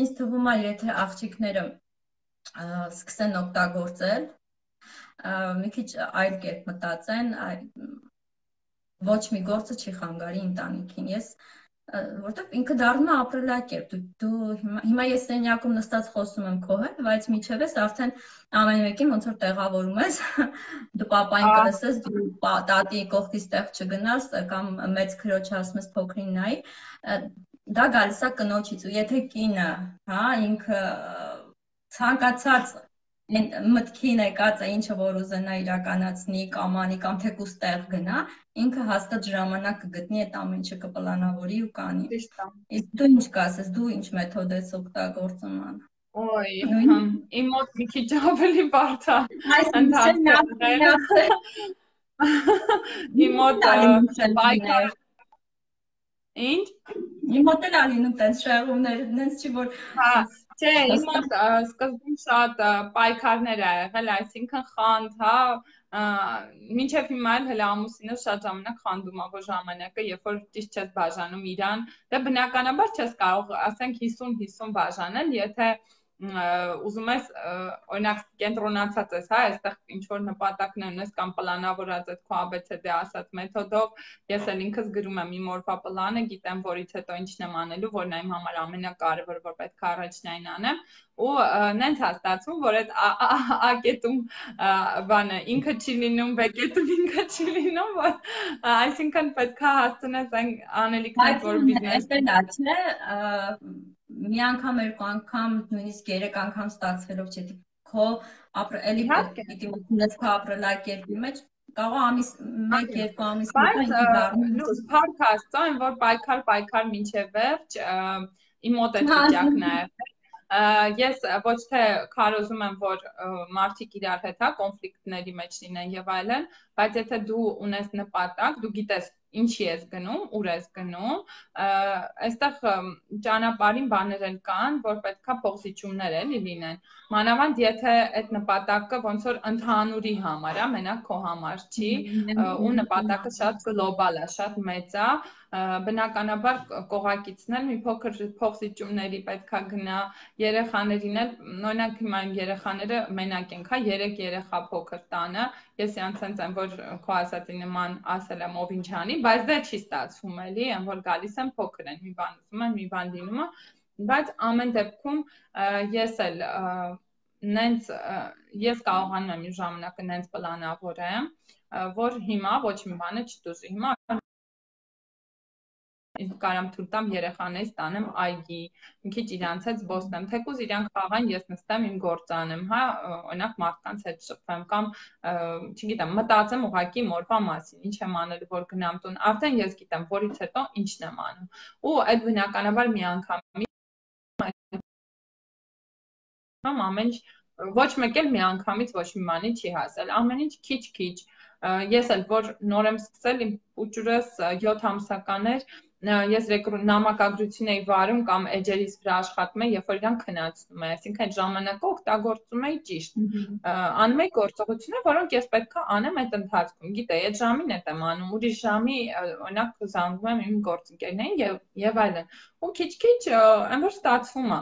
ինձ թվում է, եթե աղջիկները սկսեն օգտագործել, մի քիչ այլ կերպ մտածեն, ոչ մի գործը չի խանգարի ընտանիքին։ Ես որտեվ ինքը դառնում է ապրելակերպ։ Դու հիմա ես սենյակում նստած խոսում եմ քո հետ, բայց միջև ես արդեն ամեն մեկին ոնց որ տեղավորում ես, դու պապային կլսես, դու տատի կողքից տեղ չգնաս կամ մեծ քրոջը ասում ես փոքրին նայի, դա գալիս է կնոջից։ Ու եթե կինը, հա, ինքը ցանկացած մտքին եկած է ինչը որ ուզենա իրականացնի կամ անի կամ թեկուզ տեղ գնա, ինքը հաստատ ժամանակ կգտնի այդ ամեն ինչը կպլանավորի ու կանի։ Իսկ դու ինչ կասես, դու ինչ մեթոդ ես օգտագործում ան։
Ոյ, իմ մոտ մի քիչ ավելի բարդ է։ Իմ մոտ բայկար Ինչ։
Իմ մոտ էլ ալինում տենց շեղումներ, նենց չի որ
Չէ, իմ մոտ սկզբում շատ պայքարներ ա եղել, այսինքն խանդ, հա, մինչև հիմա էլ հələ ամուսինս շատ ժամանակ խանդում ա, որ ժամանակը, երբ որ ճիշտ չես բաժանում իրան, դե բնականաբար չես կարող, ասենք հիսուն հիսուն բաժանել, եթե ուզում ես օրինակ կենտրոնացած ես, հա, այստեղ ինչ որ նպատակներ ունես կամ պլանավորած ես քո A B C D ասած մեթոդով, ես էլ ինքս գրում եմ իմ օրվա պլանը, գիտեմ որից հետո ինչն եմ անելու, որն է իմ համար ամենակարևորը, որ պետք է առաջնային անեմ, ու նենց է ստացվում, որ այդ A կետում բանը ինքը չի լինում, B կետում ինքը չի լինում, որ այսինքն պետք է հասցնես այն անելիքներ, որ բիզնես
չէ, մի անգամ, երկու անգամ, նույնիսկ երեք անգամ ստացվելով չէ, քո ապրելի պիտի մտնես քո ապրելակերպի մեջ, կարող ամիս մեկ երկու ամիս
բայց փառք Աստծո, այն որ պայքար պայքար մինչև վերջ, իմ մոտ այդ վիճակն է եղել։ Ես ոչ թե քարոզում եմ, որ մարդիկ իրար հետ հա կոնֆլիկտների մեջ լինեն եւ այլն, բայց եթե դու ունես նպատակ, դու գիտես ինչի ես գնում, ուր ես գնում, այստեղ ճանապարհին բաներ էլ կան, որ պետքա փոխզիջումներ էլի լինեն։ Մանավանդ եթե այդ նպատակը ոնց որ ընդհանուրի համար է, մենակ քո համար չի, ու նպատակը շատ գլոբալ է, շատ մեծ է, բնականաբար կողակիցն էլ մի փոքր փոխզիջումների պետքա գնա, երեխաներին էլ, օրինակ հիմա իմ երեխաները մենակ են, հա, երեք երեխա փոքր տանը, ես յանցենց եմ, որ քո ասածի նման ասել եմ ով ինչ անի, բայց դա չի ստացվում էլի, այն որ գալիս են փոքր են, մի բան ուզում են, մի բան լինում է, բայց ամեն դեպքում ես էլ նենց ես կարողանում եմ իմ ժամանակը նենց պլանավորեմ, որ հիմա ոչ մի բանը չտուժի, հիմա կարամ թույլ տամ երեխաներից տանեմ այգի, մի քիչ իրանց հետ զբոսնեմ, թեկուզ իրանք խաղան, ես նստեմ իմ գործ անեմ, հա, օրինակ մարդկանց հետ շփվեմ կամ, չգիտեմ, մտածեմ ուղղակի մորվա մասին, ինչ եմ անելու, որ գնամ տուն, արդեն ես գիտեմ, որից հետո ինչն եմ անում, ու այդ բնականաբար մի անգամի ամեն ինչ, ոչ մեկ էլ մի անգամից ոչ մի բանի չի հասել, ամեն ինչ քիչ-քիչ, ես էլ որ նոր եմ սկսել, իմ փուճուրս յոթ ամսական էր, ես նամակագրություն էի վարում կամ էջերից վրա աշխատում էի, երբ որ իրան քննացնում է, այսինքն այդ ժամանակը օգտագործում էի ճիշտ, անում էի գործողություններ, որոնք ես պետք է անեմ այդ ընթացքում, գիտեի, այդ ժամին էդ եմ անում, ուրիշ ժամի, օրինակ զանգում եմ իմ գործընկերներին եւ այլն, ու քիչ-քիչ այն որ ստացվում է,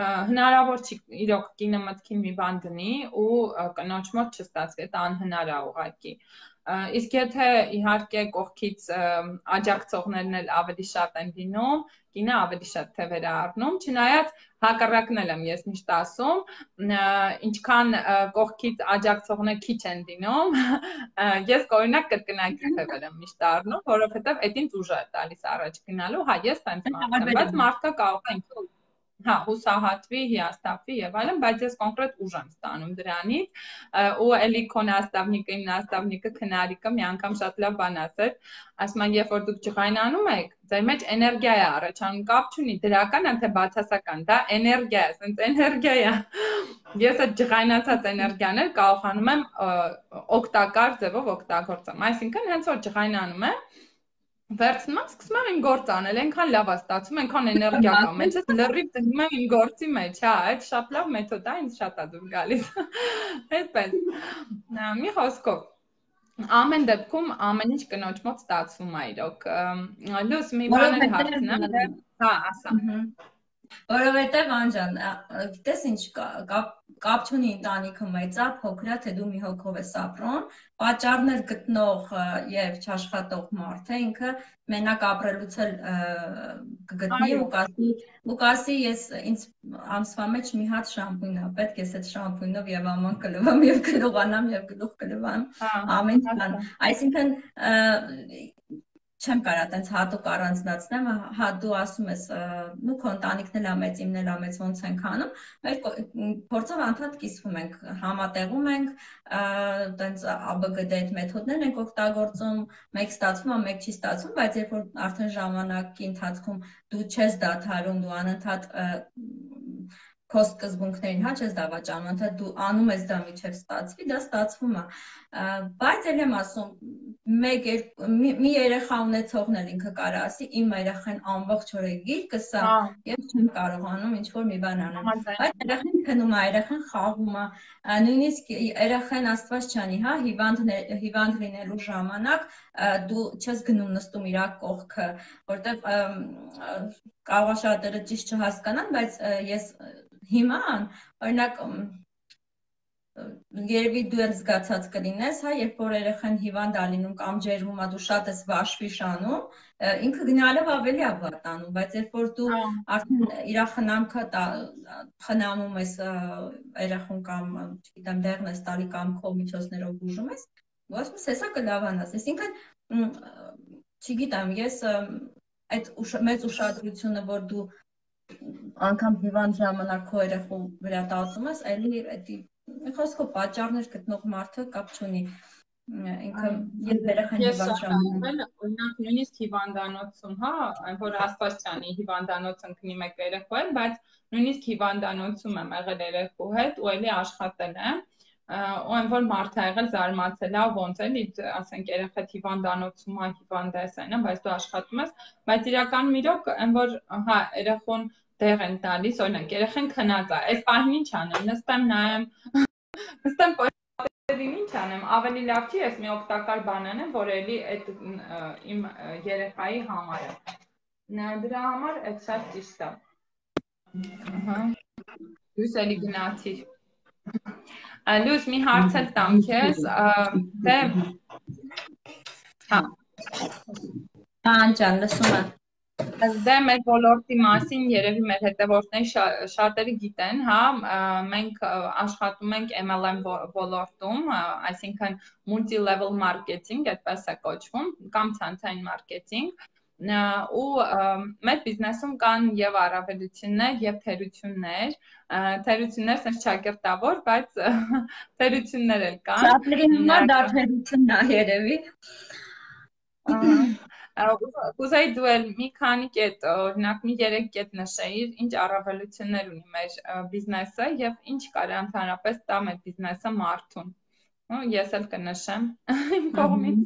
հնարավոր չի իրոք կինը մտքին մի բան դնի ու կնոջ մոտ չստացվի, դա անհնար է ուղղակի։ Իսկ եթե իհարկե կողքից աջակցողներն էլ ավելի շատ են լինում, կինը ավելի շատ թևեր է առնում, չնայած հակառակն էլ եմ ես միշտ ասում, ինչքան կողքից աջակցողներ քիչ են լինում, ես օրինակ կրկնակի թևեր եմ միշտ առնում, որովհետև այդ ինձ ուժ է տալիս առաջ գնալու, հա, ես տենց մարդ եմ, բայց մարդը կարող է հա, հուսահատվի, հիասթափվի եւ այլն, բայց ես կոնկրետ ուժ եմ ստանում դրանից, ու էլի քո նաստավնիկը, իմ նաստավնիկը քնարիկը մի անգամ շատ լավ բան ասեց, ասում են, երբ որ դուք ջղայնանում եք, ձեր մեջ էներգիա է առաջանում, կապ չունի դրական է թե բացասական, դա էներգիա է, ասենց էներգիա է։ Ես այդ ջղայնացած էներգիան էլ կարողանում եմ օգտակար ձևով օգտագործեմ, այսինքն հենց որ ջղայնանում եմ, վերցնում եմ, սկսում եմ իմ գործ անել, այնքան լավ է ստացվում, այնքան էներգիա կա մեջս, լրիվ դնում եմ իմ գործի մեջ, հա, այդ շատ լավ մեթոդ է, ինձ շատ է դուր գալիս։ Այդպես։ Մի խոսքով, ամեն դեպքում ամեն ինչ կնոջ մոտ ստացվում է իրոք։ Լույս, մի բան էլ հարցնեմ, հա, ասա։
Որովհետև Անջան, գիտես ինչ կապ չունի ընտանիքը մեծ է, փոքր է, թե դու մի հոգով ես ապրում, պատճառներ գտնող եւ չաշխատող մարդը ինքը մենակ ապրելուց էլ կգտնի ու կասի, ու կասի ես ինձ ամսվա մեջ մի հատ շամպույն է պետք, ես այդ շամպույնով եւ աման կլվամ եւ գլուխանամ եւ գլուխ կլվամ, ամեն բան, այսինքն չեմ կարա տենց հատուկ առանձնացնեմ, հա դու ասում ես, նու քո ընտանիքն էլ ամեծ, իմն էլ ամեծ ոնց ենք անում, մեր փորձով անդադ կիսվում ենք, համատեղում ենք, տենց ա բը գ դե այդ մեթոդներն ենք օգտագործում, մեկ ստացվում է, մեկ չի ստացվում, բայց երբ որ արդեն ժամանակի ընթացքում դու չես դադարում, դու անընդհատ քո սկզբունքներին, հա, չես դավաճանում, անընդհատ դու անում ես դա միջև ստացվի, դա ստացվում է, բայց էլ եմ ասում, մեկ մի երեխա ունեցողն էլ ինքը կարա ասի, իմ երեխան ամբողջ օրը գիրկս է, ես չեմ կարողանում ինչ-որ մի բան անել, բայց երեխան քնում է, երեխան խաղում է, նույնիսկ երեխան աստված չանի, հա, հիվանդ լինելու ժամանակ դու չես գնում նստում իրա կողքը, որտեվ կարող է շատերը ճիշտ չհասկանան, բայց ես հիմա, օրինակ, երևի դու էլ զգացած կլինես, հա, երբ որ երեխան հիվանդ է լինում կամ ջերմում է, դու շատ ես վաշվի շանում, ինքը գնալով ավելի է վատանում, բայց երբ որ դու արդեն իր խնամքը խնամում ես երեխուն կամ, չգիտեմ, դեղն ես տալի կամ քո միջոցներով բուժում ես, դու ասում ես, հեսա կլավանաս, այսինքն, չգիտեմ, ես այդ մեծ ուշադրությունը, որ դու անգամ հիվանդ ժամանակ քո երեխու վրա տածում ես, էլի մի խոսքով պատճառներ գտնող մարդը կապ չունի, ինքը երբ երեխան հիվանդ ժամանակ,
օրինակ նույնիսկ հիվանդանոցում, հա, այն որ աստված չանի հիվանդանոց ընկնի մեկ երեխու հետ, բայց նույնիսկ հիվանդանոցում եմ եղել երեխու հետ ու էլի աշխատել եմ, ու այն որ մարդը եղել զարմացել է ոնց էլի ասենք երեխեդ հիվանդանոցում է հիվանդես այնա բայց դու աշխատում ես բայց իրական միրոք այն որ հա երեխուն դեղ են տալիս օրինակ երեխեն քնած է այս պահին ինչ անեմ նստեմ նայեմ նստեմ պատերին ինչ անեմ ավելի լավ չի ես մի օգտակար բան անեմ որ էլի այդ իմ երեխայի համար է դրա համար այդ շատ ճիշտ է ահա դու էլի գնացիր Լյուս, մի հարց էլ տամ քեզ, դե հա
Անջան, լսում եմ
Դե մեր ոլորտի մասին երևի մեր հետևորդների շատերը գիտեն, հա, մենք աշխատում ենք M L M ոլորտում, այսինքն multi-level marketing, այդպես է կոչվում, կամ ցանցային մարքեթինգ ու մեր բիզնեսում կան եւ առավելություններ եւ թերություններ թերություններ sense ճակերտավոր բայց թերություններ էլ կան
շատերի համար դա թերությունն է երևի
Կուզեի դու էլ մի քանի կետ օրինակ մի երեք կետ նշեիր ինչ առավելություններ ունի մեր բիզնեսը եւ ինչ կարա ընդհանրապես տա մեր բիզնեսը մարդուն ես էլ կնշեմ իմ կողմից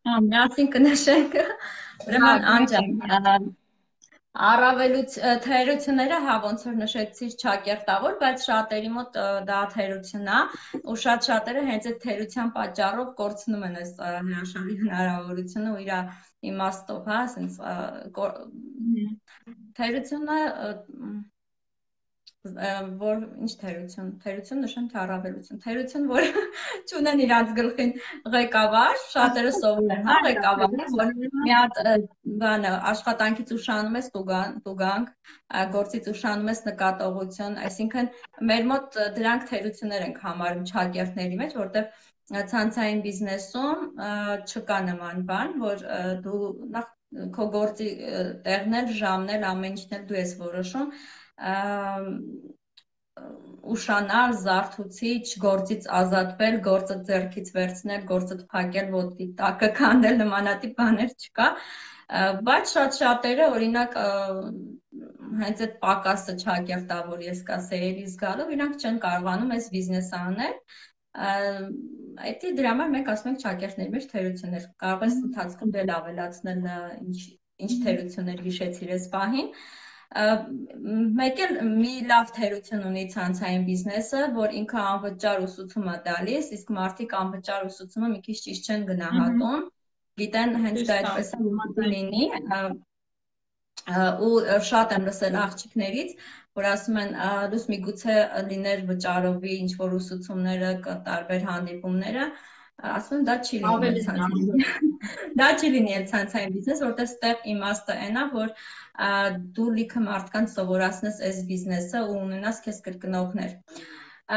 Հա, միասին կնշենք ուրեմն Անջան Առավելուց թերությունները հա ոնց որ նշեցիր չակերտավոր, բայց շատերի մոտ դա թերություն է ու շատ շատերը հենց այդ թերության պատճառով կորցնում են այս հրաշալի հնարավորությունը ու իր իմաստով, հա, ասենց թերությունը որ ինչ թերություն, թերություն նշեմ թե առավելություն, թերություն, որ չունեն իրանց գլխին ղեկավար, շատերը սովոր են, հա, ղեկավար, որ մի հատ բանը աշխատանքից ուշանում ես տուգանք, գործից ուշանում ես նկատողություն, այսինքն մեր մոտ դրանք թերություններ ենք համարում չակերտների մեջ, որտեղ ցանցային բիզնեսում չկա նման բան, որ դու նախ քո գործի տեղն էլ, ժամն էլ, ամեն ինչն էլ դու ես որոշում ուշանալ, զարթուցիչ, գործից ազատվել, գործը ձեռքից վերցնել, գործը փակել, ոտքի տակը քանդել, նմանատիպ բաներ չկա, բայց շատ շատերը օրինակ հենց այդ պակասը չակերտավոր ես կասեի զգալով, իրանք չեն կարողանում այս բիզնեսը անել Այդ դրա համար մենք ասում ենք չակերտների մեջ թերություններ, կարող ես ընթացքում դել ավելացնել ինչ թերություններ հիշեցիր այս պահին Մեկ էլ մի լավ թերություն ունի ցանցային բիզնեսը, որ ինքը անվճար ուսուցում է տալիս, իսկ մարդիկ անվճար ուսուցումը մի քիչ ճիշտ չեն գնահատում, գիտեն հենց դա այդպես է լինի ու շատ եմ լսել աղջիկներից, որ ասում են լույս միգուցե լիներ վճարովի ինչ որ ուսուցումները, տարբեր հանդիպումները, ասում եմ դա չի լինի դա չի լինի էլ ցանցային բիզնես, որտեղ ստեղ իմաստը այն է, որ դու լիքը մարդկանց սովորացնես այս բիզնեսը ու ունենաս քեզ կրկնողներ։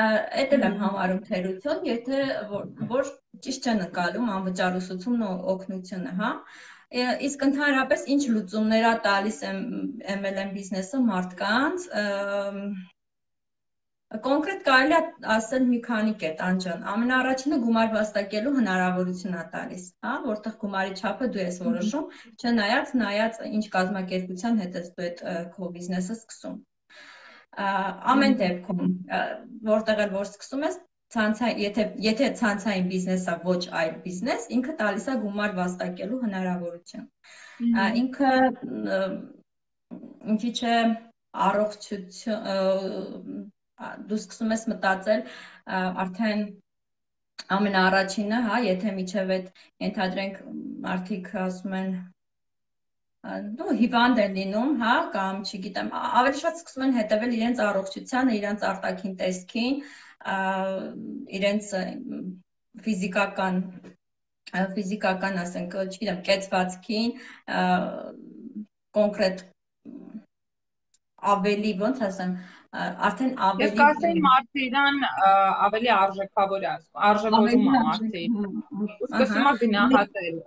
Այդ էլ եմ համարում թերություն, եթե որ ճիշտ չեն ընկալում անվճար ուսուցումն ու օգնությունը, հա։ Իսկ ընդհանրապես ինչ լուծումներ է տալիս M L M բիզնեսը մարդկանց, կոնկրետ կարելի է ասել մի քանի կետ Անջան, ամենաառաջինը գումար վաստակելու հնարավորություն է տալիս, հա, որտեղ գումարի չափը դու ես որոշում, չնայած նայած ինչ կազմակերպության հետ ես դու այդ քո բիզնեսը սկսում։ Ամեն դեպքում, որտեղ էլ որ սկսում ես, եթե եթե ցանցային բիզնեսը ոչ այլ բիզնես, ինքը տալիս է գումար վաստակելու հնարավորություն։ Ինքը ինչի՞ չէ առողջություն դու սկսում ես մտածել արդեն ամենաառաջինը, հա, եթե միջև այդ ենթադրենք մարդիկ ասում են դու հիվանդ են լինում, հա, կամ չգիտեմ, ավելի շատ սկսում են հետևել իրենց առողջությանը, իրենց արտաքին տեսքին, իրենց ֆիզիկական ֆիզիկական, ասենք, չգիտեմ, կեցվածքին, կոնկրետ ավելի, ոնց ասեմ, արդեն ավելի
Ես կասեի մարդը իրան ավելի արժեքավոր է ասում, արժևորում է մարդը։ Սկսում է գնահատել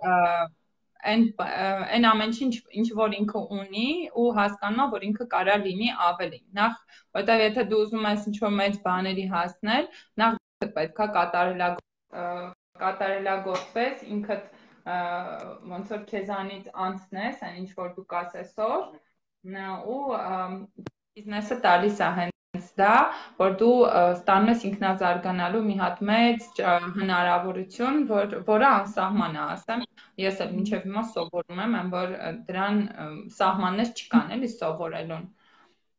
այն այն ամեն ինչ որ ինքը ունի ու հասկանում է որ ինքը կարա լինի ավելի նախ որտեղ եթե դու ուզում ես ինչ-որ մեծ բաների հասնել նախ պետքա կատարելագործես կատարելագործես ինքդ ոնց որ քեզանից անցնես այն ինչ որ դու կասես որ ու բիզնեսը տալիս է հենց դա, որ դու ստանում ես ինքնազարգանալու մի հատ մեծ հնարավորություն, որ, որը անսահման է, ասեմ, ես էլ մինչև հիմա սովորում եմ, եմ որ դրան սահմաններ չկան, էլի սովորելուն։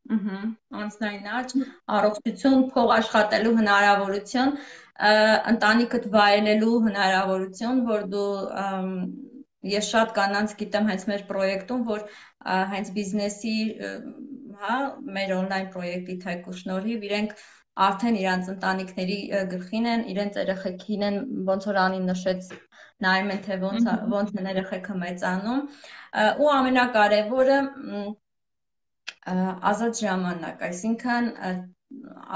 Ըհը, անձնային աճ, առողջություն, փող աշխատելու հնարավորություն, ընտանիքդ վայելելու հնարավորություն, որ դու ես շատ կանանց գիտեմ հենց մեր պրոյեկտում, որ հենց բիզնեսի, հա, մեր on-line պրոյեկտի թեկու շնորհիվ իրենք արդեն իրանց ընտանիքների գլխին են, իրենց երեխեքին են, ոնց որ Անին նշեց, նայում են, թե ոնց ոնց են երեխեքը մեծանում, ու ամենակարևորը ազատ ժամանակ, այսինքն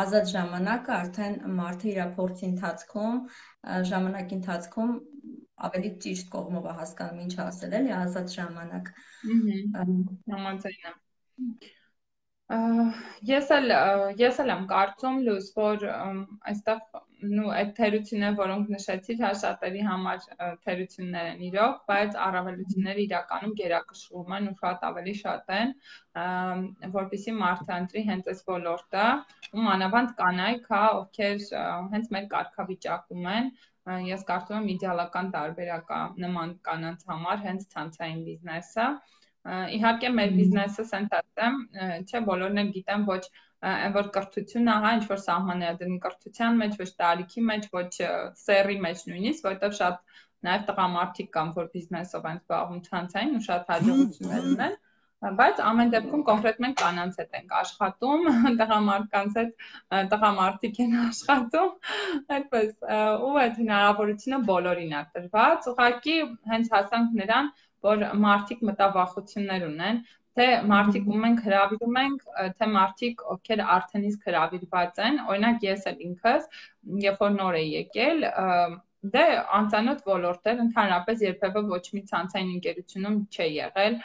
ազատ ժամանակը արդեն մարդը իր փորձի ընթացքում, ժամանակի ընթացքում ավելի ճիշտ կողմով է հասկանում ինչ ասել, էլի ազատ ժամանակ։
Համաձայն եմ։ Ես էլ ես էլ եմ կարծում լույս, որ այստեղ նու այդ թերությունները, որոնք նշեցիր, հա շատերի համար թերություններ են իրոք, բայց առավելությունները իրականում գերակշռում են ու շատ ավելի շատ են, որպեսզի մարդը ընտրի հենց այս ոլորտը, ու մանավանդ կանայք, հա, ովքեր հենց մեր կարգավիճակում են, ես կարծում եմ իդեալական տարբերակ է նման կանանց համար հենց ցանցային բիզնեսը։ Իհարկե մեր բիզնեսը սենտացեմ, չէ, բոլորն էլ գիտեմ, ոչ այն որ կրթությունն է, հա, ինչ որ սահմաններ դրին կրթության մեջ, ոչ տարիքի մեջ, ոչ սեռի մեջ նույնիսկ, որովհետև շատ նաև տղամարդիկ կան, որ բիզնեսով են զբաղվում ցանցային ու շատ հաջողություններ ունեն, բայց ամեն դեպքում կոնկրետ մենք կանանց հետ ենք աշխատում, տղամարդկանց հետ տղամարդիկ են աշխատում, այդպես, ու այդ հնարավորությունը բոլորին է տրված, ուղղակի հենց հասանք նրան, որ մարդիկ մտավախություններ ունեն, թե մարդիկ ում ենք հրավիրում ենք, թե մարդիկ, ովքեր արդեն իսկ հրավիրված են, օրինակ ես էլ ինքս, երբ որ նոր էի եկել, դե անծանոթ ոլորտեր, ընդհանրապես երբևէ ոչ մի ցանցային ընկերությունում չի եղել,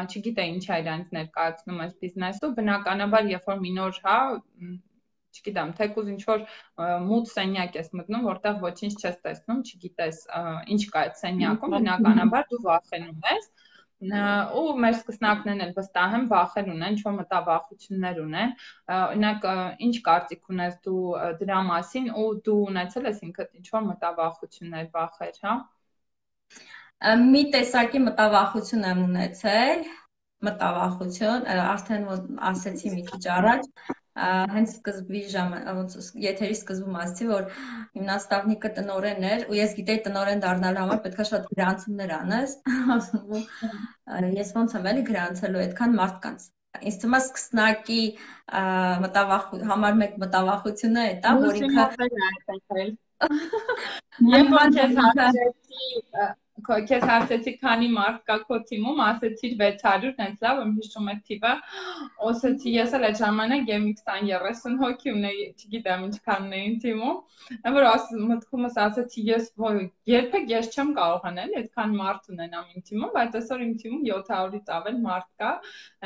չգիտեի ինչ է իրանց ներկայացնում այս բիզնեսը, բնականաբար երբ որ մի նոր, հա, չգիտեմ, թեկուզ ինչ որ մութ սենյակ ես մտնում, որտեղ ոչինչ չես տեսնում, չգիտես ինչ կա այդ սենյակում, բնականաբար դու վախենում ես, ու մեր սկսնակներն էլ վստահ եմ վախեր ունեն, ինչ որ մտավախություններ ունեն, օրինակ ինչ կարծիք ունես դու դրա մասին ու դու ունեցել ես ինքդ ինչ որ մտավախություններ, վախեր, հա։
Մի տեսակի մտավախություն եմ ունեցել, մտավախություն, արդեն ասեցի մի քիչ առաջ, հենց սկզբի ժամանակ, եթերի սկզբում ասացի, որ իմ նաստավնիկը տնօրեն էր, ու ես գիտեի տնօրեն դառնալու համար պետք է շատ գրանցումներ անես, ես ոնց եմ էլի գրանցելու այդքան մարդկանց։ Ինձ թվում է սկսնակի համար մեկ մտավախությունը է դա, որ ինքը
Երբ որ քեզ հարցրեցի, քեզ հարցեցի քանի մարդ կա քո թիմում, ասեցիր վեց հարյուր, հենց լավ եմ հիշում այդ թիվը, ասեցի ես էլ այդ ժամանակ եմ քսան երեսուն հոգի ունեի, չգիտեմ ինչքանն էին թիմում, այն որ մտքումս ասեցի ես երբեք ես չեմ կարողանալ այդքան մարդ ունենամ իմ թիմում, բայց այսօր իմ թիմում յոթ հարյուրից ավել մարդ կա,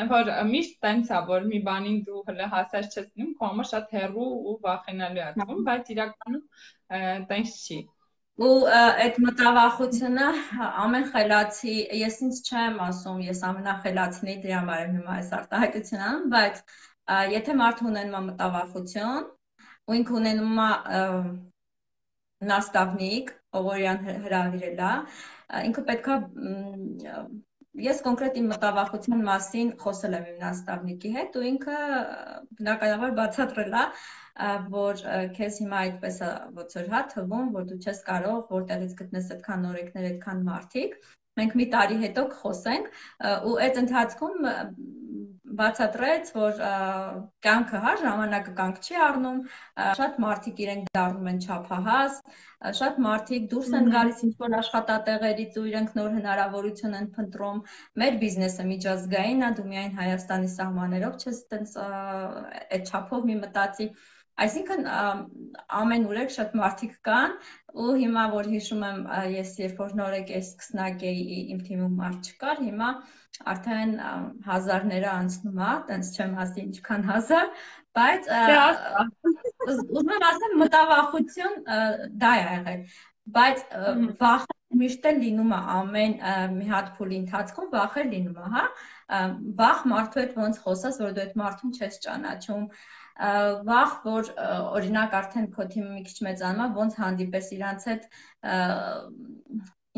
այն որ միշտ տենց է, որ մի բանին դու հələ հասած չես լինում, քո համար շատ հեռու ու վախենալու է թվում, բայց իրականում տենց չի։
Ու այդ մտավախությունը ամեն խելացի, ես ինձ չեմ ասում, ես ամենախելացին էի, դրա համար եմ հիմա այս արտահայտությունը անում, բայց եթե մարդը ունենում է մտավախություն, ու ինքը ունենում է նաստավնիկ, ով իրան հրավիրել է, ինքը պետք է ես կոնկրետ իմ մտավախության մասին խոսել եմ իմ նաստավնիկի հետ ու ինքը բնականաբար բացատրել է, որ քեզ հիմա այդպես է ոնց որ հա թվում, որ դու չես կարող որտեղից գտնես այդքան նորեկներ, այդքան մարդիկ, մենք մի տարի հետո կխոսենք ու այդ ընթացքում բացատրեց, որ կյանքը հա ժամանակը կյանք չի առնում, շատ մարդիկ իրենք դառնում են չափահաս, շատ մարդիկ դուրս են գալիս ինչ-որ աշխատատեղերից ու իրենք նոր հնարավորություն են փնտրում, մեր բիզնեսը միջազգային է, դու միայն Հայաստանի սահմաններով չես տենց այդ չափով մի մտածի, այսինքն ամենուրեք շատ մարդիկ կան ու հիմա որ հիշում եմ ես երբ որ նոր եկել սկսնակ էի իմ թիմում մարդ չկար, հիմա արդեն հազարները անցնում է, տենց չեմ ասի ինչքան հազար, բայց ուզում եմ ասեմ մտավախություն դա է եղել, բայց վախը միշտ էլ լինում է ամեն մի հատ փուլի ընթացքում վախեր լինում է, հա, վախ մարդու հետ ոնց խոսած, որ դու այդ մարդուն չես ճանաչում, վախ, որ օրինակ արդեն քո թիմը մի քիչ մեծանում է, ոնց հանդիպես իրանց հետ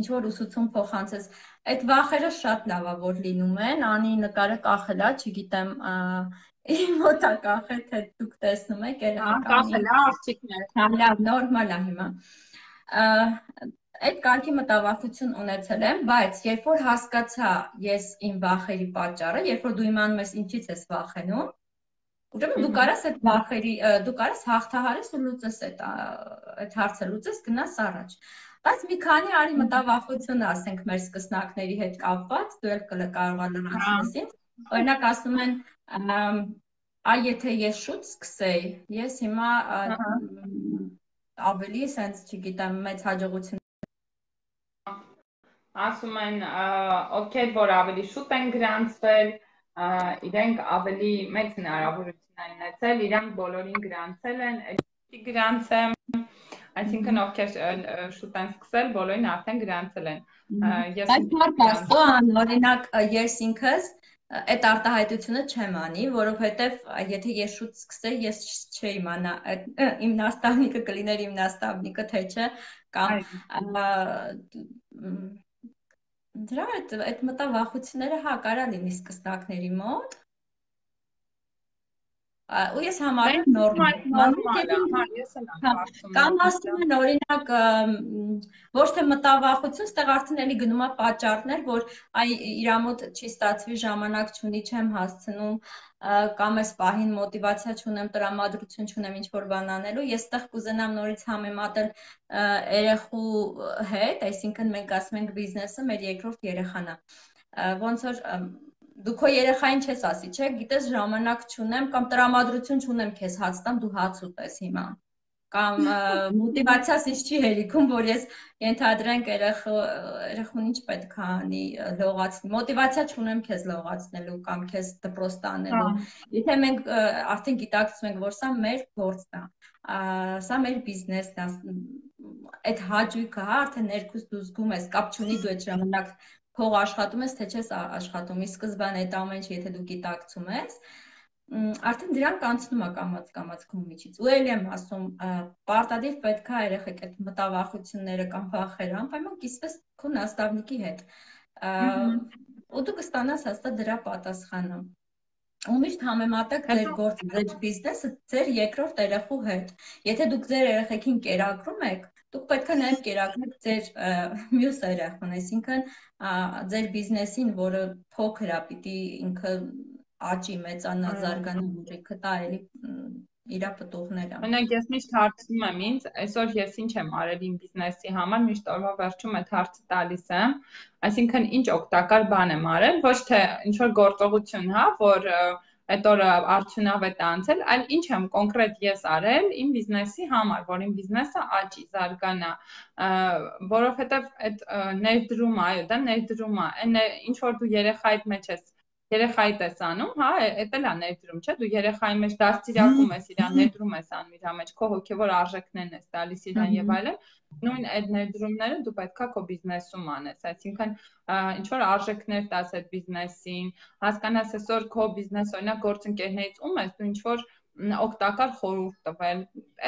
ինչ որ ուսուցում փոխանցես, այդ վախերը շատ լավ է, որ լինում են, անի նկարը կախել է, չգիտեմ, իմ մոտ է կախել, թե դուք տեսնում եք, երեխեք անի։
Կախել է աղջիկներ։
Լավ, նորմալ է հիմա։ Այդ կարգի մտավախություն ունեցել եմ, բայց երբ որ հասկացա ես իմ վախերի պատճառը, երբ որ դու իմանում ես ինչից ես վախենում, ուրեմն դու կարաս այդ վախերի, դու կարաս հաղթահարես ու լուծես այդ այդ հարցը լուծես, գնաս առաջ։ Բայց մի քանի արի մտավախություն ասենք մեր սկսնակների հետ կապված, դու էլ կարող ես լրացնես ինձ։ Օրինակ ասում են, այ եթե ես շուտ սկսեի, ես հիմա ավելի sense չգիտեմ, մեծ հաջողություն
ասում են, ովքեր որ ավելի շուտ են գրանցվել, իրենք ավելի մեծ հնարավորություն են ունեցել, իրանք բոլորին գրանցել են, այլ գրանցեմ, այսինքն ովքեր շուտ են սկսել, բոլորին արդեն գրանցել են։
Բայց մարդ աստծո, օրինակ ես ինքս այդ արտահայտությունը չեմ անի, որովհետև եթե ես շուտ սկսեի, ես չէի իմանա իմ նաստավնիկը կլիներ իմ նաստավնիկը, թե չէ, կամ դրա այդ մտավախությունները հա կարա լինի սկսնակների մոտ, ու ես համարում նորմալ կամ ասում են օրինակ ոչ թե մտավախություն, ստեղ արդեն էլի գնում է պատճառներ, որ այ իրա մոտ չի ստացվի, ժամանակ չունի, չեմ հասցնում, կամ այս պահին մոտիվացիա չունեմ, տրամադրություն չունեմ ինչ-որ բան անելու, ես ստեղ կուզենամ նորից համեմատել երեխու հետ, այսինքն մենք ասում ենք բիզնեսը մեր երկրորդ երեխան է, ոնց որ դու քո երեխային չես ասի, չէ, գիտես ժամանակ չունեմ կամ տրամադրություն չունեմ քեզ հաց տամ, դու հաց ուտես հիմա, կամ մոտիվացիաս ինձ չի հերիքում, որ ես ենթադրենք երեխուն ինչ պետք է անի, լողացնի, մոտիվացիա չունեմ քեզ լողացնելու կամ քեզ դպրոց տանելու, եթե մենք արդեն գիտակցում ենք, որ սա մեր գործն է, սա մեր բիզնեսն է, այդ հաճույքը, հա, արդեն ներքուս դու զգում ես, կապ չունի դու այդ ժամանակ փող աշխատում ես, թե չես աշխատում, ի սկզբանե այդ ամեն ինչ, եթե դու գիտակցում ես, արդեն դրանք անցնում է կամաց-կամաց քո միջից։ Ու էլ եմ ասում, պարտադիր պետք է երեխեք այդ մտավախությունները կամ վախերը անպայման կիսվես քո նաստավնիկի հետ։ Ու դու կստանաս հաստատ դրա պատասխանը։ Ու միշտ համեմատեք ձեր գործը, ձեր բիզնեսը ձեր երկրորդ երեխու հետ։ Եթե դուք ձեր երեխեքին կերակրում եք, դուք պետք է նաև կերակրեք ձեր մյուս երեխուն, այսինքն ձեր բիզնեսին, որը փոքր է, պիտի ինքը աճի, մեծանա, զարգանա, որիքը տա էլի իրա պտուղները։
Մենակ ես միշտ հարցնում եմ ինձ, այսօր ես ինչ եմ արել իմ բիզնեսի համար, միշտ օրվա վերջում այդ հարցը տալիս եմ, այսինքն ինչ օգտակար բան եմ արել, ոչ թե ինչ որ գործողություն, հա, որ այդ օրը արդյունավետ անցել, այլ ինչ եմ կոնկրետ ես արել իմ բիզնեսի համար, որ իմ բիզնեսը աճի, զարգանա, որովհետև այդ ներդրումը, այո, դա ներդրում է, այն ինչ որ դու երեխայիդ մեջ ես երեխայի ես անում, հա, էդ էլ է ներդրում, չէ, դու երեխայի մեջ դաստիարակում ես իրան, ներդրում ես անում իր մեջ, քո հոգևոր արժեքներն ես տալիս իրան եւ այլն, նույն այդ ներդրումները դու պետքա քո բիզնեսում անես, այսինքն ինչ որ արժեքներ տաս այդ բիզնեսին, հասկանաս այսօր քո բիզնես օրինակ գործընկերներից ում ես, դու ինչ որ օգտակար խորհուրդ տվել,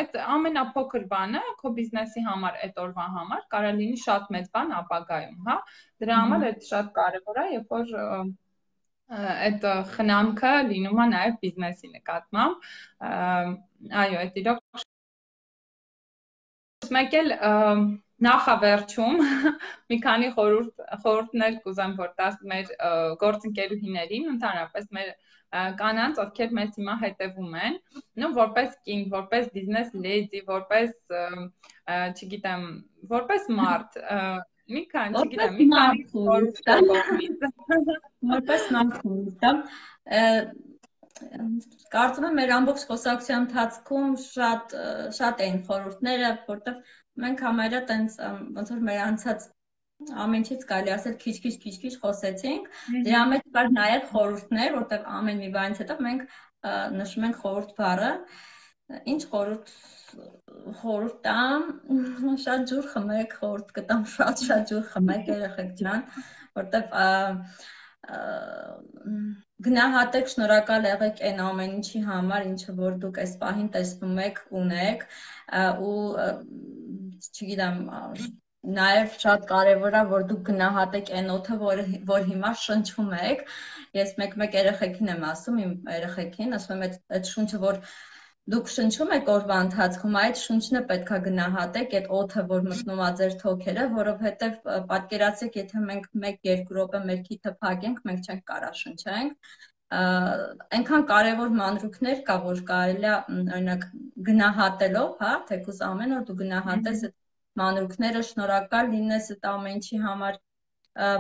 այդ ամենափոքր բանը քո բիզնեսի համար, այդ օրվա համար կարող լինի շատ մեծ բան ապագայում, հա, դրա համար այդ շատ կարևոր է, երբ որ այդ խնամքը լինում է նաև բիզնեսի նկատմամբ, այո, այդ իրոք մեկ էլ նախավերջում մի քանի խորհուրդներ կուզեմ, որ տաս մեր գործընկերուհիներին, ընդհանրապես մեր կանանց, ովքեր մեզ հիմա հետևում են, նո որպես կին, որպես բիզնես լեդի, որպես, չգիտեմ, որպես մարդ, մի քանի, չգիտեմ, մի քանի խորհուրդ
որպես նախորդ, կարծում եմ մեր ամբողջ խոսակցության ընթացքում շատ շատ էին խորհուրդները, որտեղ մենք համարյա տենց ոնց որ մեր անցած ամեն ինչից կարելի ասել քիչ-քիչ քիչ-քիչ խոսեցինք, դրա մեջ կար նաև խորհուրդներ, որտեղ ամեն մի բանից հետո մենք նշում ենք խորհուրդ բառը, Ինչ խորհուրդ խորհուրդ տամ, շատ ջուր խմեք, խորհուրդ կտամ շատ շատ ջուր խմեք երեխեք ջան, որտեվ գնահատեք, շնորհակալ եղեք այն ամեն ինչի համար, ինչը որ դուք այս պահին տեսնում եք, ունեք, ու չգիտեմ, նաև շատ կարևոր է, որ դուք գնահատեք այն օդը, որ որ հիմա շնչում եք։ Ես մեկ-մեկ երեխեքին եմ ասում, իմ երեխեքին, ասում եմ, այդ շունչը, որ դուք շնչում եք օրվա ընթացքում, այդ շունչն է պետքա գնահատեք, այդ օդը, որ մտնում է ձեր թոքերը, որովհետև պատկերացրեք, եթե մենք մեկ-երկու րոպե մեր քիթը փակենք, մենք չենք կարա շնչենք։ Այնքան կարևոր մանրուքներ կա, որ կարելի է օրինակ գնահատելով, հա, թեկուզ ամեն օր դու գնահատես այդ մանրուքները, շնորհակալ լինես այդ ամեն ինչի համար,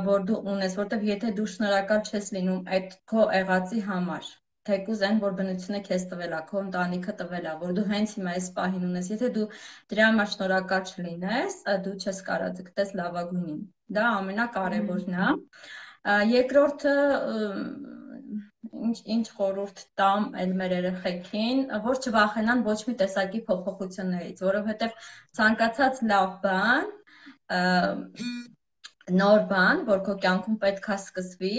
որ դու ունես, որտեվ եթե դու շնորհակալ չես լինում այդ քո եղածի համար, թեկուզ այն, որ բնությունը քեզ տվել է, քո ընտանիքը տվել է, որ դու հենց հիմա այս պահին ունես, եթե դու դրա համար շնորհակալ չլինես, դու չես կարա ձգտես լավագույնին։ Դա ամենակարևորն է։ Երկրորդը, ինչ ինչ խորհուրդ տամ էլ մեր երեխեքին, որ չվախենան ոչ մի տեսակի փոփոխություններից, որովհետև ցանկացած լավ բան, նոր բան, որ քո կյանքում պետք է սկսվի,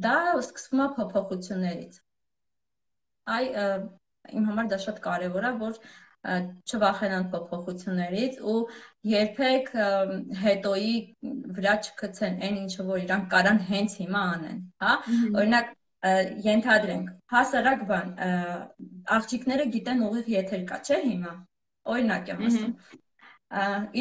դա սկսվում է փոփոխություններից։ Այ իմ համար դա շատ կարևոր է, որ չվախենան փոփոխություններից ու երբեք հետոյի վրա չգցեն այն ինչը, որ իրանք կարան հենց հիմա անեն, հա։ Օրինակ ենթադրենք, հասարակ բան, աղջիկները գիտեն ուղիղ եթեր կա, չէ՞ հիմա։ Օրինակ եմ ասում։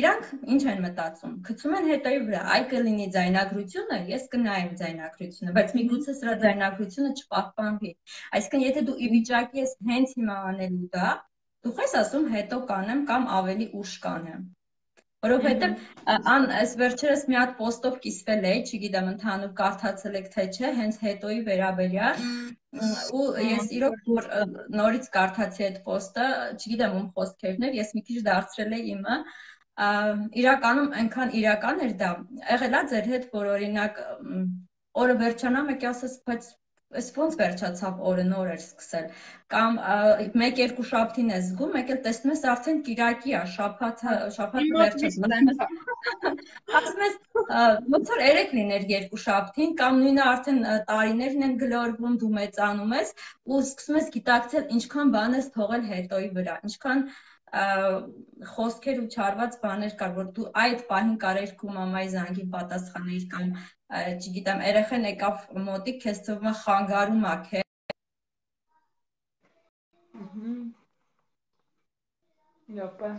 Իրանք ինչ են մտածում, գցում են հետոյի վրա, այ կլինի ձայնագրությունը, ես կնայեմ ձայնագրությունը, բայց միգուցե սրա ձայնագրությունը չպահպանվի։ Այսինքն, եթե դու ի վիճակի ես հենց հիմա անելու դա, դու ես ասում հետո կանեմ կամ ավելի ուշ կանեմ։ Որովհետև ան այս վերջերս մի հատ պոստով կիսվել էի, չգիտեմ ընդհանուր կարդացել եք թե չէ, հենց հետոյի վերաբերյալ, ու ես իրոք որ նորից կարդացի այդ պոստը, չգիտեմ ում խոսքերն էր, ես մի քիչ դարձրել էի իմը, իրականում այնքան իրական էր դա, եղել է ձեր հետ, որ օրինակ օրը վերջանա, մեկի ասես, բայց այս ոնց վերջացավ օրը, նոր էր սկսել, կամ մեկ-երկու շաբթին ես զգում, մեկ էլ տեսնում ես արդեն կիրակի է, շաբաթը, շաբաթը վերջացավ։ Ասում ես, ոնց որ երեք լիներ երկու շաբթին, կամ նույնը արդեն տարիներն են գլորվում, դու մեծանում ես ու սկսում ես գիտակցել ինչքան բան ես թողել հետոյի վրա, ինչքան խոսքեր ու չարված բաներ կար, որ դու այդ պահին կարեր քո մամայի զանգին պատասխանել կամ չգիտեմ, երեխան եկավ մոտիկ, քեզ թվում է խանգարում է քեզ։
Լոպա։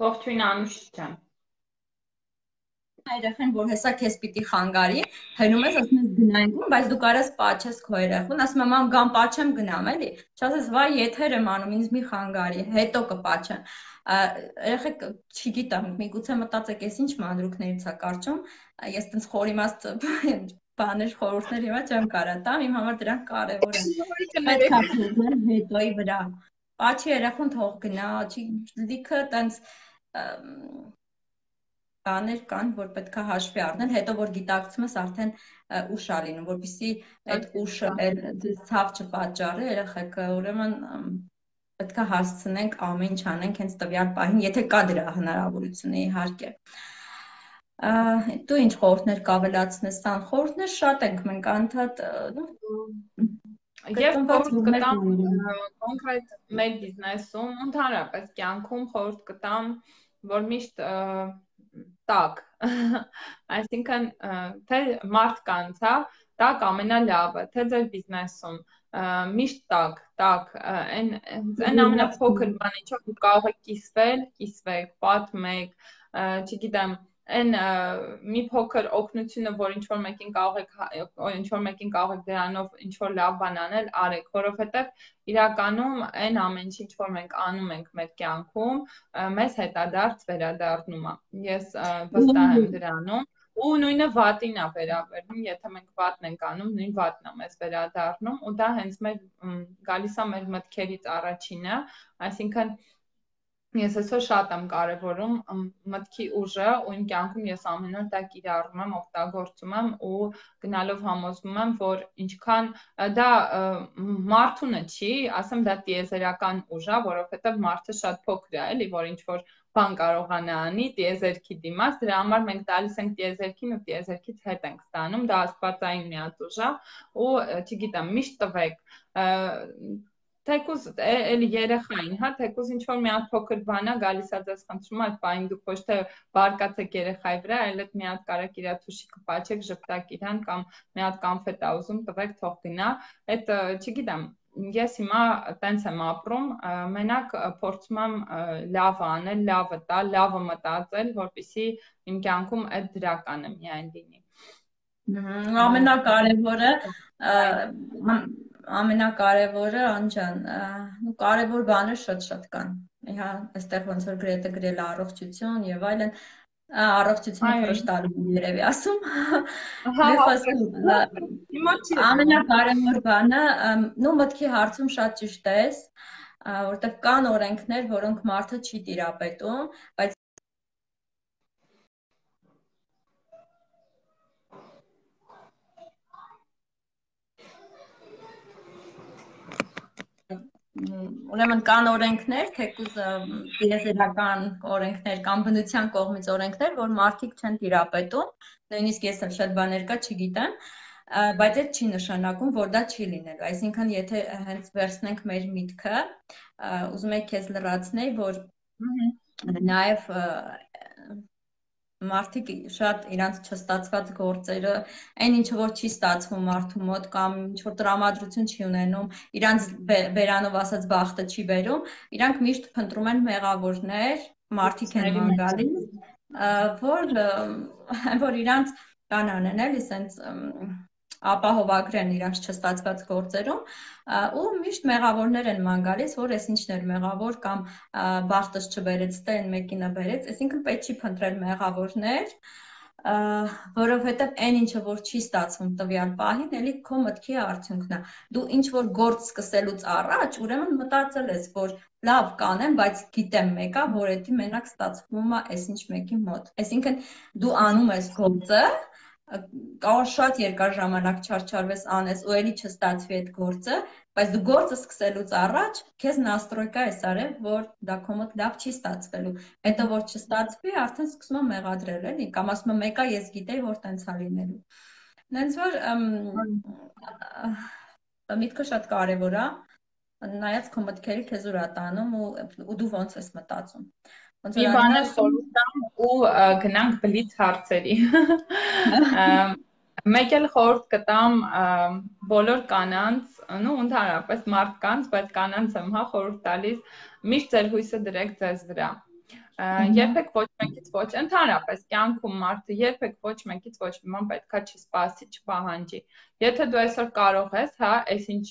Ողջույն Անուշ ջան։
Երեխան, որ հեսա քեզ պիտի խանգարի, հնում ես, ասում ես գնայինք, բայց դու կարաս պաչես քո երեխուն, ասում եմ, մամ, գամ պաչեմ գնամ, էլի։ Չասես, վայ, եթեր եմ անում, ինձ մի խանգարի, հետո կպաչեմ։ Երեխեք, չգիտեմ, միգուցե մտածեք, ես ինչ մանրուքներից է կարճում, ես տենց խորիմաստ բաներ, խորհուրդներ հիմա չեմ կարա տամ, իմ համար դրանք կարևոր են։ Պետք է փոխել հետոյի վրա։ Պաչի երեխուն թող գնա, լիքը տենց բաներ կան, որ պետք է հաշվի առնել, հետո որ գիտակցում ես արդեն ուշ է լինում, որպեսզի այդ ուշը ցավ չպատճառի, երեխեք, ուրեմն պետք է հասցնենք ամեն ինչ անենք հենց տվյալ պահին, եթե կա դրա հնարավորությունը, իհարկե։ Դու ինչ խորհուրդներ կավելացնես, Սան, խորհուրդներ շատ ենք մենք անդադ
Եվ խորհուրդ կտամ կոնկրետ մեր բիզնեսում, ընդհանրապես կյանքում խորհուրդ կտամ, որ միշտ տակ, այսինքն թե մարդկանց, հա, տակ ամենալավը, թե ձեր բիզնեսում, միշտ տակ, տակ, այն ամենափոքր բանը, ինչով դուք կարող եք կիսվել, կիսվեք, պատմեք, չգիտեմ, այն մի փոքր օգնությունը, որ ինչ-որ մեկին կարող եք, ինչ-որ մեկին կարող եք դրանով ինչ-որ լավ բան անել, արեք, որովհետև իրականում այն ամեն ինչ, ինչ որ մենք անում ենք մեր կյանքում, մեզ հետադարձ վերադառնում է։ Ես վստահ եմ դրանում, ու նույնը վատին է վերաբերվում, եթե մենք վատն ենք անում, նույն վատն է մեզ վերադառնում, ու դա հենց մեր գալիս է մեր մտքերից առաջինը, այսինքն Ես այսօր շատ եմ կարևորում մտքի ուժը ու իմ կյանքում ես ամեն օր դա կիրառում եմ, օգտագործում եմ ու գնալով համոզվում եմ, որ ինչքան դա մարդունը չի, ասեմ դա տիեզերական ուժ է, որովհետև մարդը շատ փոքր է, էլի, որ ինչ որ բան կարողանա անի տիեզերքի դիմաց, դրա համար մենք տալիս ենք տիեզերքին ու տիեզերքից հետ ենք ստանում, դա աստվածային մի հատ ուժ է ու չգիտեմ, միշտ տվեք Թեկուզ էլի երեխային, հա, թեկուզ ինչ-որ մի հատ փոքր բան է, գալիս է ձեզ խնդրում, այդ պահին դուք ոչ թե բարկացեք երեխայի վրա, այլ այդ մի հատ կարակ իրա թուշիկը պաչեք, ժպտակ իրան կամ մի հատ կոնֆետ ա ուզում, տվեք, թող գնա։ Այդ չգիտեմ, ես հիմա տենց եմ ապրում, մենակ փորձում եմ լավը անել, լավը տալ, լավը մտածել, որպեսզի իմ կյանքում այդ դրականը միայն լինի։
Ամենակարևորը ամենակարևորը անջան, ու կարևոր բաներ շատ-շատ կան։ Իհա, այստեղ ոնց որ գրեթե գրել առողջություն եւ այլն, առողջությունը խրշտալու երևի ասում։ Ամենակարևոր բանը, նու մտքի հարցում շատ ճիշտ ես, որտեղ կան օրենքներ, որոնք մարդը չի տիրապետում, բայց ուրեմն կան օրենքներ, թեկուզ տիեզերական օրենքներ կամ բնության կողմից օրենքներ, որ մարդիկ չեն տիրապետում, նույնիսկ ես էլ շատ բաներ կա չգիտեմ, բայց այդ չի նշանակում, որ դա չի լինելու, այսինքն եթե հենց վերցնենք մեր միտքը, ուզում եք քեզ լրացնել, որ նաև մարդիկ շատ իրանց չստացված գործերը, այն ինչը որ չի ստացվում մարդու մոտ կամ ինչ որ տրամադրություն չի ունենում, իրանց բերանով ասած բախտը չի բերում, իրանք միշտ փնտրում են մեղավորներ, մարդիկ են ման գալիս, որ որ իրանց կան անեն էլի սենց ապահովագրեն իրանց չստացված գործերում ու միշտ մեղավորներ են ման գալիս, որ ես ինչն էր մեղավոր կամ բախտս չբերեց, թե այն մեկինը բերեց, այսինքն պետք չի փնտրել մեղավորներ, որովհետև այն ինչը որ չի ստացվում տվյալ պահին, էլի քո մտքի արդյունքն է։ Դու ինչ որ գործ սկսելուց առաջ, ուրեմն մտածել ես, որ լավ կանեմ, բայց գիտեմ մեկա, որ էդի մենակ ստացվում է այսինչ մեկի մոտ։ Այսինքն դու անում ես գործը, կարող շատ երկար ժամանակ չարչարվես անես ու էլի չստացվի այդ գործը, բայց դու գործը սկսելուց առաջ քեզ նաստրոյկա ես արել, որ դա քո մոտ լավ չի ստացվելու։ Հետո որ չստացվի, արդեն սկսում եմ մեղադրել, էլի, կամ ասում եմ մեկա ես գիտեի, որ տենց է լինելու։ Նենց որ միտքը շատ կարևոր է, նայած քո մտքերի քեզ ուր է տանում ու դու ոնց ես մտածում։
Մի բան էլ խորհուրդ տամ ու գնանք բլիթ հարցերի։ Մեկ էլ խորհուրդ կտամ բոլոր կանանց, ու ընդհանրապես մարդկանց, բայց կանանց եմ հա խորհուրդ տալիս, միշտ ձեր հույսը դրեք ձեզ վրա։ Երբեք ոչ մեկից ոչ, ընդհանրապես կյանքում մարդը երբեք ոչ մեկից ոչ մի բան պետքա չսպասի, չպահանջի։ Եթե դու այսօր կարող ես, հա, այս ինչ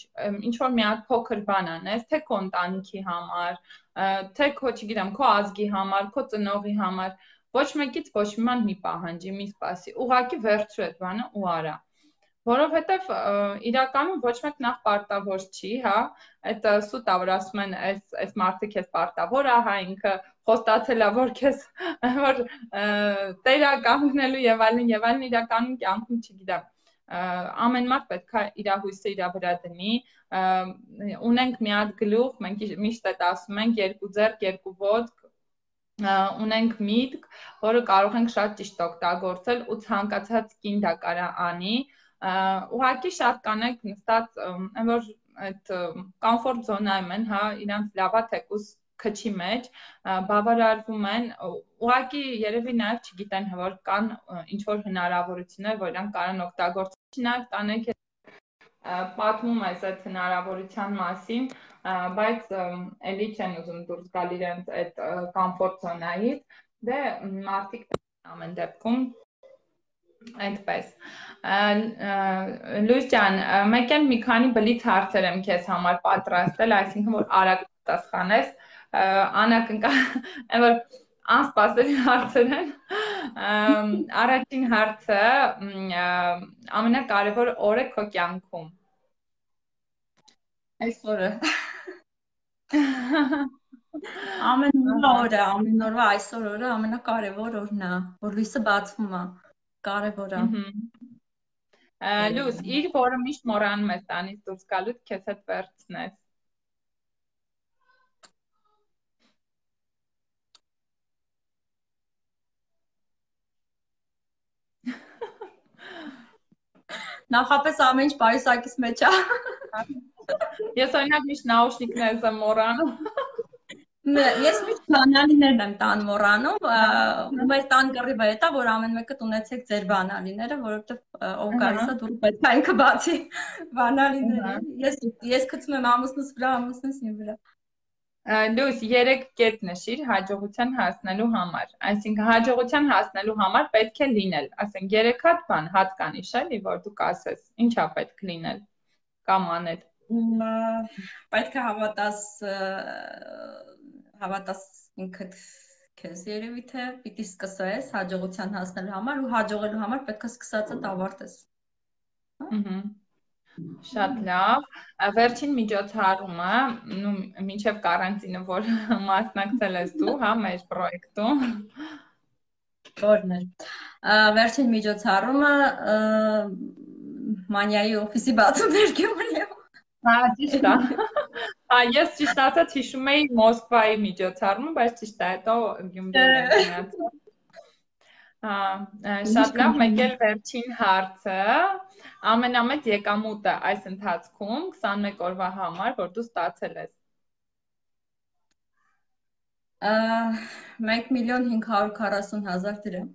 ինչ որ մի հատ փոքր բան անես, թե քո ընտանիքի համար, թե քո, չգիտեմ, քո ազգի համար, քո ծնողի համար, ոչ մեկից ոչ մի բան մի պահանջի, մի սպասի, ուղղակի վերցրու այդ բանը ու արա։ Որովհետև իրականում ոչ մեկ նախ պարտավոր չի, հա, այդ սուտ ա, որ ասում են, այս այս մարդը քեզ պարտավոր է, հա, ինքը խոստացել է, որ քեզ որ տեր է կանգնելու եւ այլն եւ այլն, իրականում կյանքում չգիտեմ, ամեն մարդ պետք է իր հույսը իր վրա դնի, ունենք մի հատ գլուխ, մենք միշտ այդ ասում ենք, երկու ձեռք, երկու ոտք, ունենք միտք, որը կարող ենք շատ ճիշտ օգտագործել ու ցանկացած կին դա կարա անի, ուղղակի շատ կանենք նստած, որ այդ կոմֆորտ զոնայում են, հա, իրանց լավա թեկուզ քչի մեջ, բավարարվում են, ուղղակի երևի նաև չգիտեն, որ կան ինչ-որ հնարավորություններ, որ իրանք կարան օգտագործել, նաև կանենք պատմում ես այդ հնարավորության մասին, բայց էլի չեն ուզում դուրս գալ իրենց այդ կոմֆորտ զոնայից, դե մարդիկ ամեն դեպքում այդպես։ Լույս ջան, մեկ էլ մի քանի բլիթ հարցեր եմ քեզ համար պատրաստել, այսինքն որ արագ պատասխանես, անակնկալ, որ անսպասելի հարցեր են։ Առաջին հարցը, ամենակարևոր օրը քո կյանքում։
Այս օրը։ Ամեն օրը, ամեն օրվա այսօր օրը ամենակարևոր օրն է, որ լույսը բացվում է, կարևոր է։
Լույս, իր որը միշտ մոռանում ես տանից դուրս գալուց քեզ հետ վերցնես։
Նախապես ամեն ինչ պայուսակից մեջ է։
Ես օրինակ միշտ նաուշնիկներս եմ մոռանում։
Ես միշտ բանալիներն եմ տան մոռանում, ու մեր տան կռիվը է դա, որ ամեն մեկը ունեցեք ձեր բանալիները, որովհետև ով գալիս է դուր պետք է ինքը բացի բանալիները։ Ես ես գցում եմ ամուսնուս վրա, ամուսնուս իմ վրա։
Լույս, երեք կետ նշիր հաջողության հասնելու համար։ Այսինքն հաջողության հասնելու համար պետք է լինել, ասենք երեք հատ բան, հատ կանիշ էլի, որ դու կասես, ինչա պետք լինել կամ անել։
Պետք է հավատաս հավատաս ինքդ քեզ երևի թե պիտի սկսես հաջողության հասնելու համար ու հաջողելու համար պետք է սկսածդ ավարտես։
Ահա։ Շատ լավ։ Վերջին միջոցառումը, նու մինչև կարանտինը, որ մասնակցել ես դու, հա, մեր պրոյեկտում։
Որն է։ Վերջին միջոցառումը մանյայի օֆիսի բացումներ Գյումրիում։
Հա, ճիշտ է։ Հա, ես ճիշտ ասած հիշում էի Մոսկվայի միջոցառումը, բայց ճիշտ է, հետո Գյումրիում եմ գնացել։ Հա, շատ լավ, մեկ էլ վերջին հարցը, ամենամեծ եկամուտը այս ընթացքում քսանմեկ օրվա համար, որ դու ստացել ես։
մեկ միլիոն հինգ հարյուր քառասուն հազար դրամ։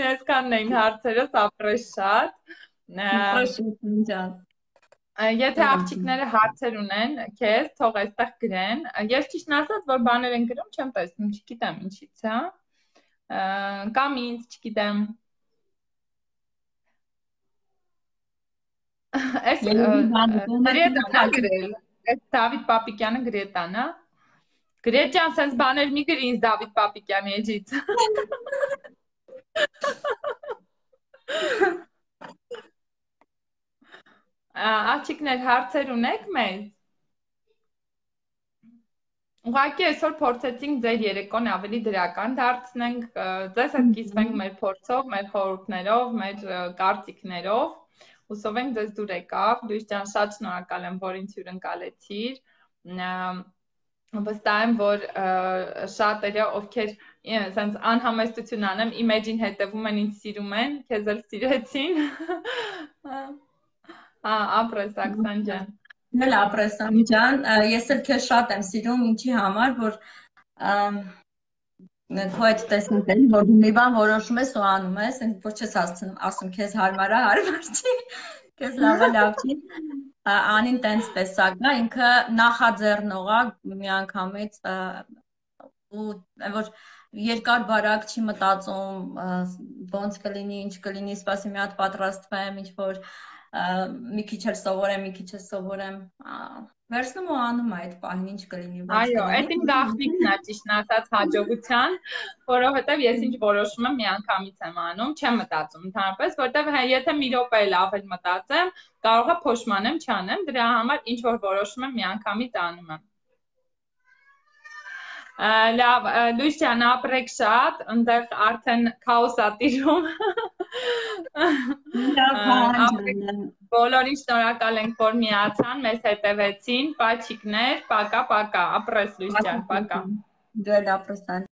Այսքանն էին հարցերս, ապրես շատ։
Ջան։
Եթե աղջիկները հարցեր ունեն, քեզ թող այստեղ գրեն։ Ես ճիշտ ասած, որ բաներ են գրում, չեմ տեսնում, չգիտեմ ինչից, հա։ Կամ ինձ, չգիտեմ։ Այս Գրետան է գրել։ Այս Դավիթ Պապիկյանը Գրետան, հա։ Գրետ ջան, սենց բաներ մի գրի ինձ Դավիթ Պապիկյանի էջից։ Աղջիկներ, հարցեր ունեք մեզ։ Ուղղակի այսօր փորձեցինք ձեր երեկոն ավելի դրական դարձնենք, ձեզ հետ կիսվենք մեր փորձով, մեր խորհուրդներով, մեր կարծիքներով։ Հուսով ենք ձեզ դուր եկավ։ Լույս ջան, շատ շնորհակալ եմ, որ ինձ հյուրընկալեցիր։ Վստահ եմ, որ շատերը, ովքեր սենց անհամեստություն անեմ, իմեջին հետևում են, ինձ սիրում են, քեզ էլ սիրեցին։ Ապրես Աքսան ջան։
Էլ ապրես Անի ջան, ես էլ քեզ շատ եմ սիրում, ինչի համար, որ քո այդ տեսնենք էլի, որ դու մի բան որոշում ես ու անում ես, որ չես ասում քեզ հարմար է, հարմար չի, քեզ լավ է, լավ չի։ Անին տենց տեսակ է, ինքը նախաձեռնող է միանգամից ու որ երկար բարակ չի մտածում, ոնց կլինի, ինչ կլինի, սպասի մի հատ պատրաստվեմ, ինչ որ մի քիչ էլ սովորեմ, մի քիչ էլ սովորեմ, վերցնում ու անում այդ պահին ինչ կլինի։
Այո, այդ իմ գաղտնիքն է, ճիշտ ասած հաջողության, որովհետև ես ինչ որոշում եմ միանգամից եմ անում, չեմ մտածում ընդհանրապես, որովհետև եթե մի րոպե էլ ավել մտածեմ, կարող է փոշմանեմ, չանեմ, դրա համար ինչ որ որոշում եմ միանգամից անում եմ։ Լավ, Լույս ջան, ապրեք շատ, այնտեղ արդեն քաոս ա տիրում։ Բոլորին շնորհակալ ենք, որ միացան, մեզ հետևեցին, պաչիկներ, պակա, պակա, ապրես Լույս ջան, պակա։
Դու էլ ապրես Անի։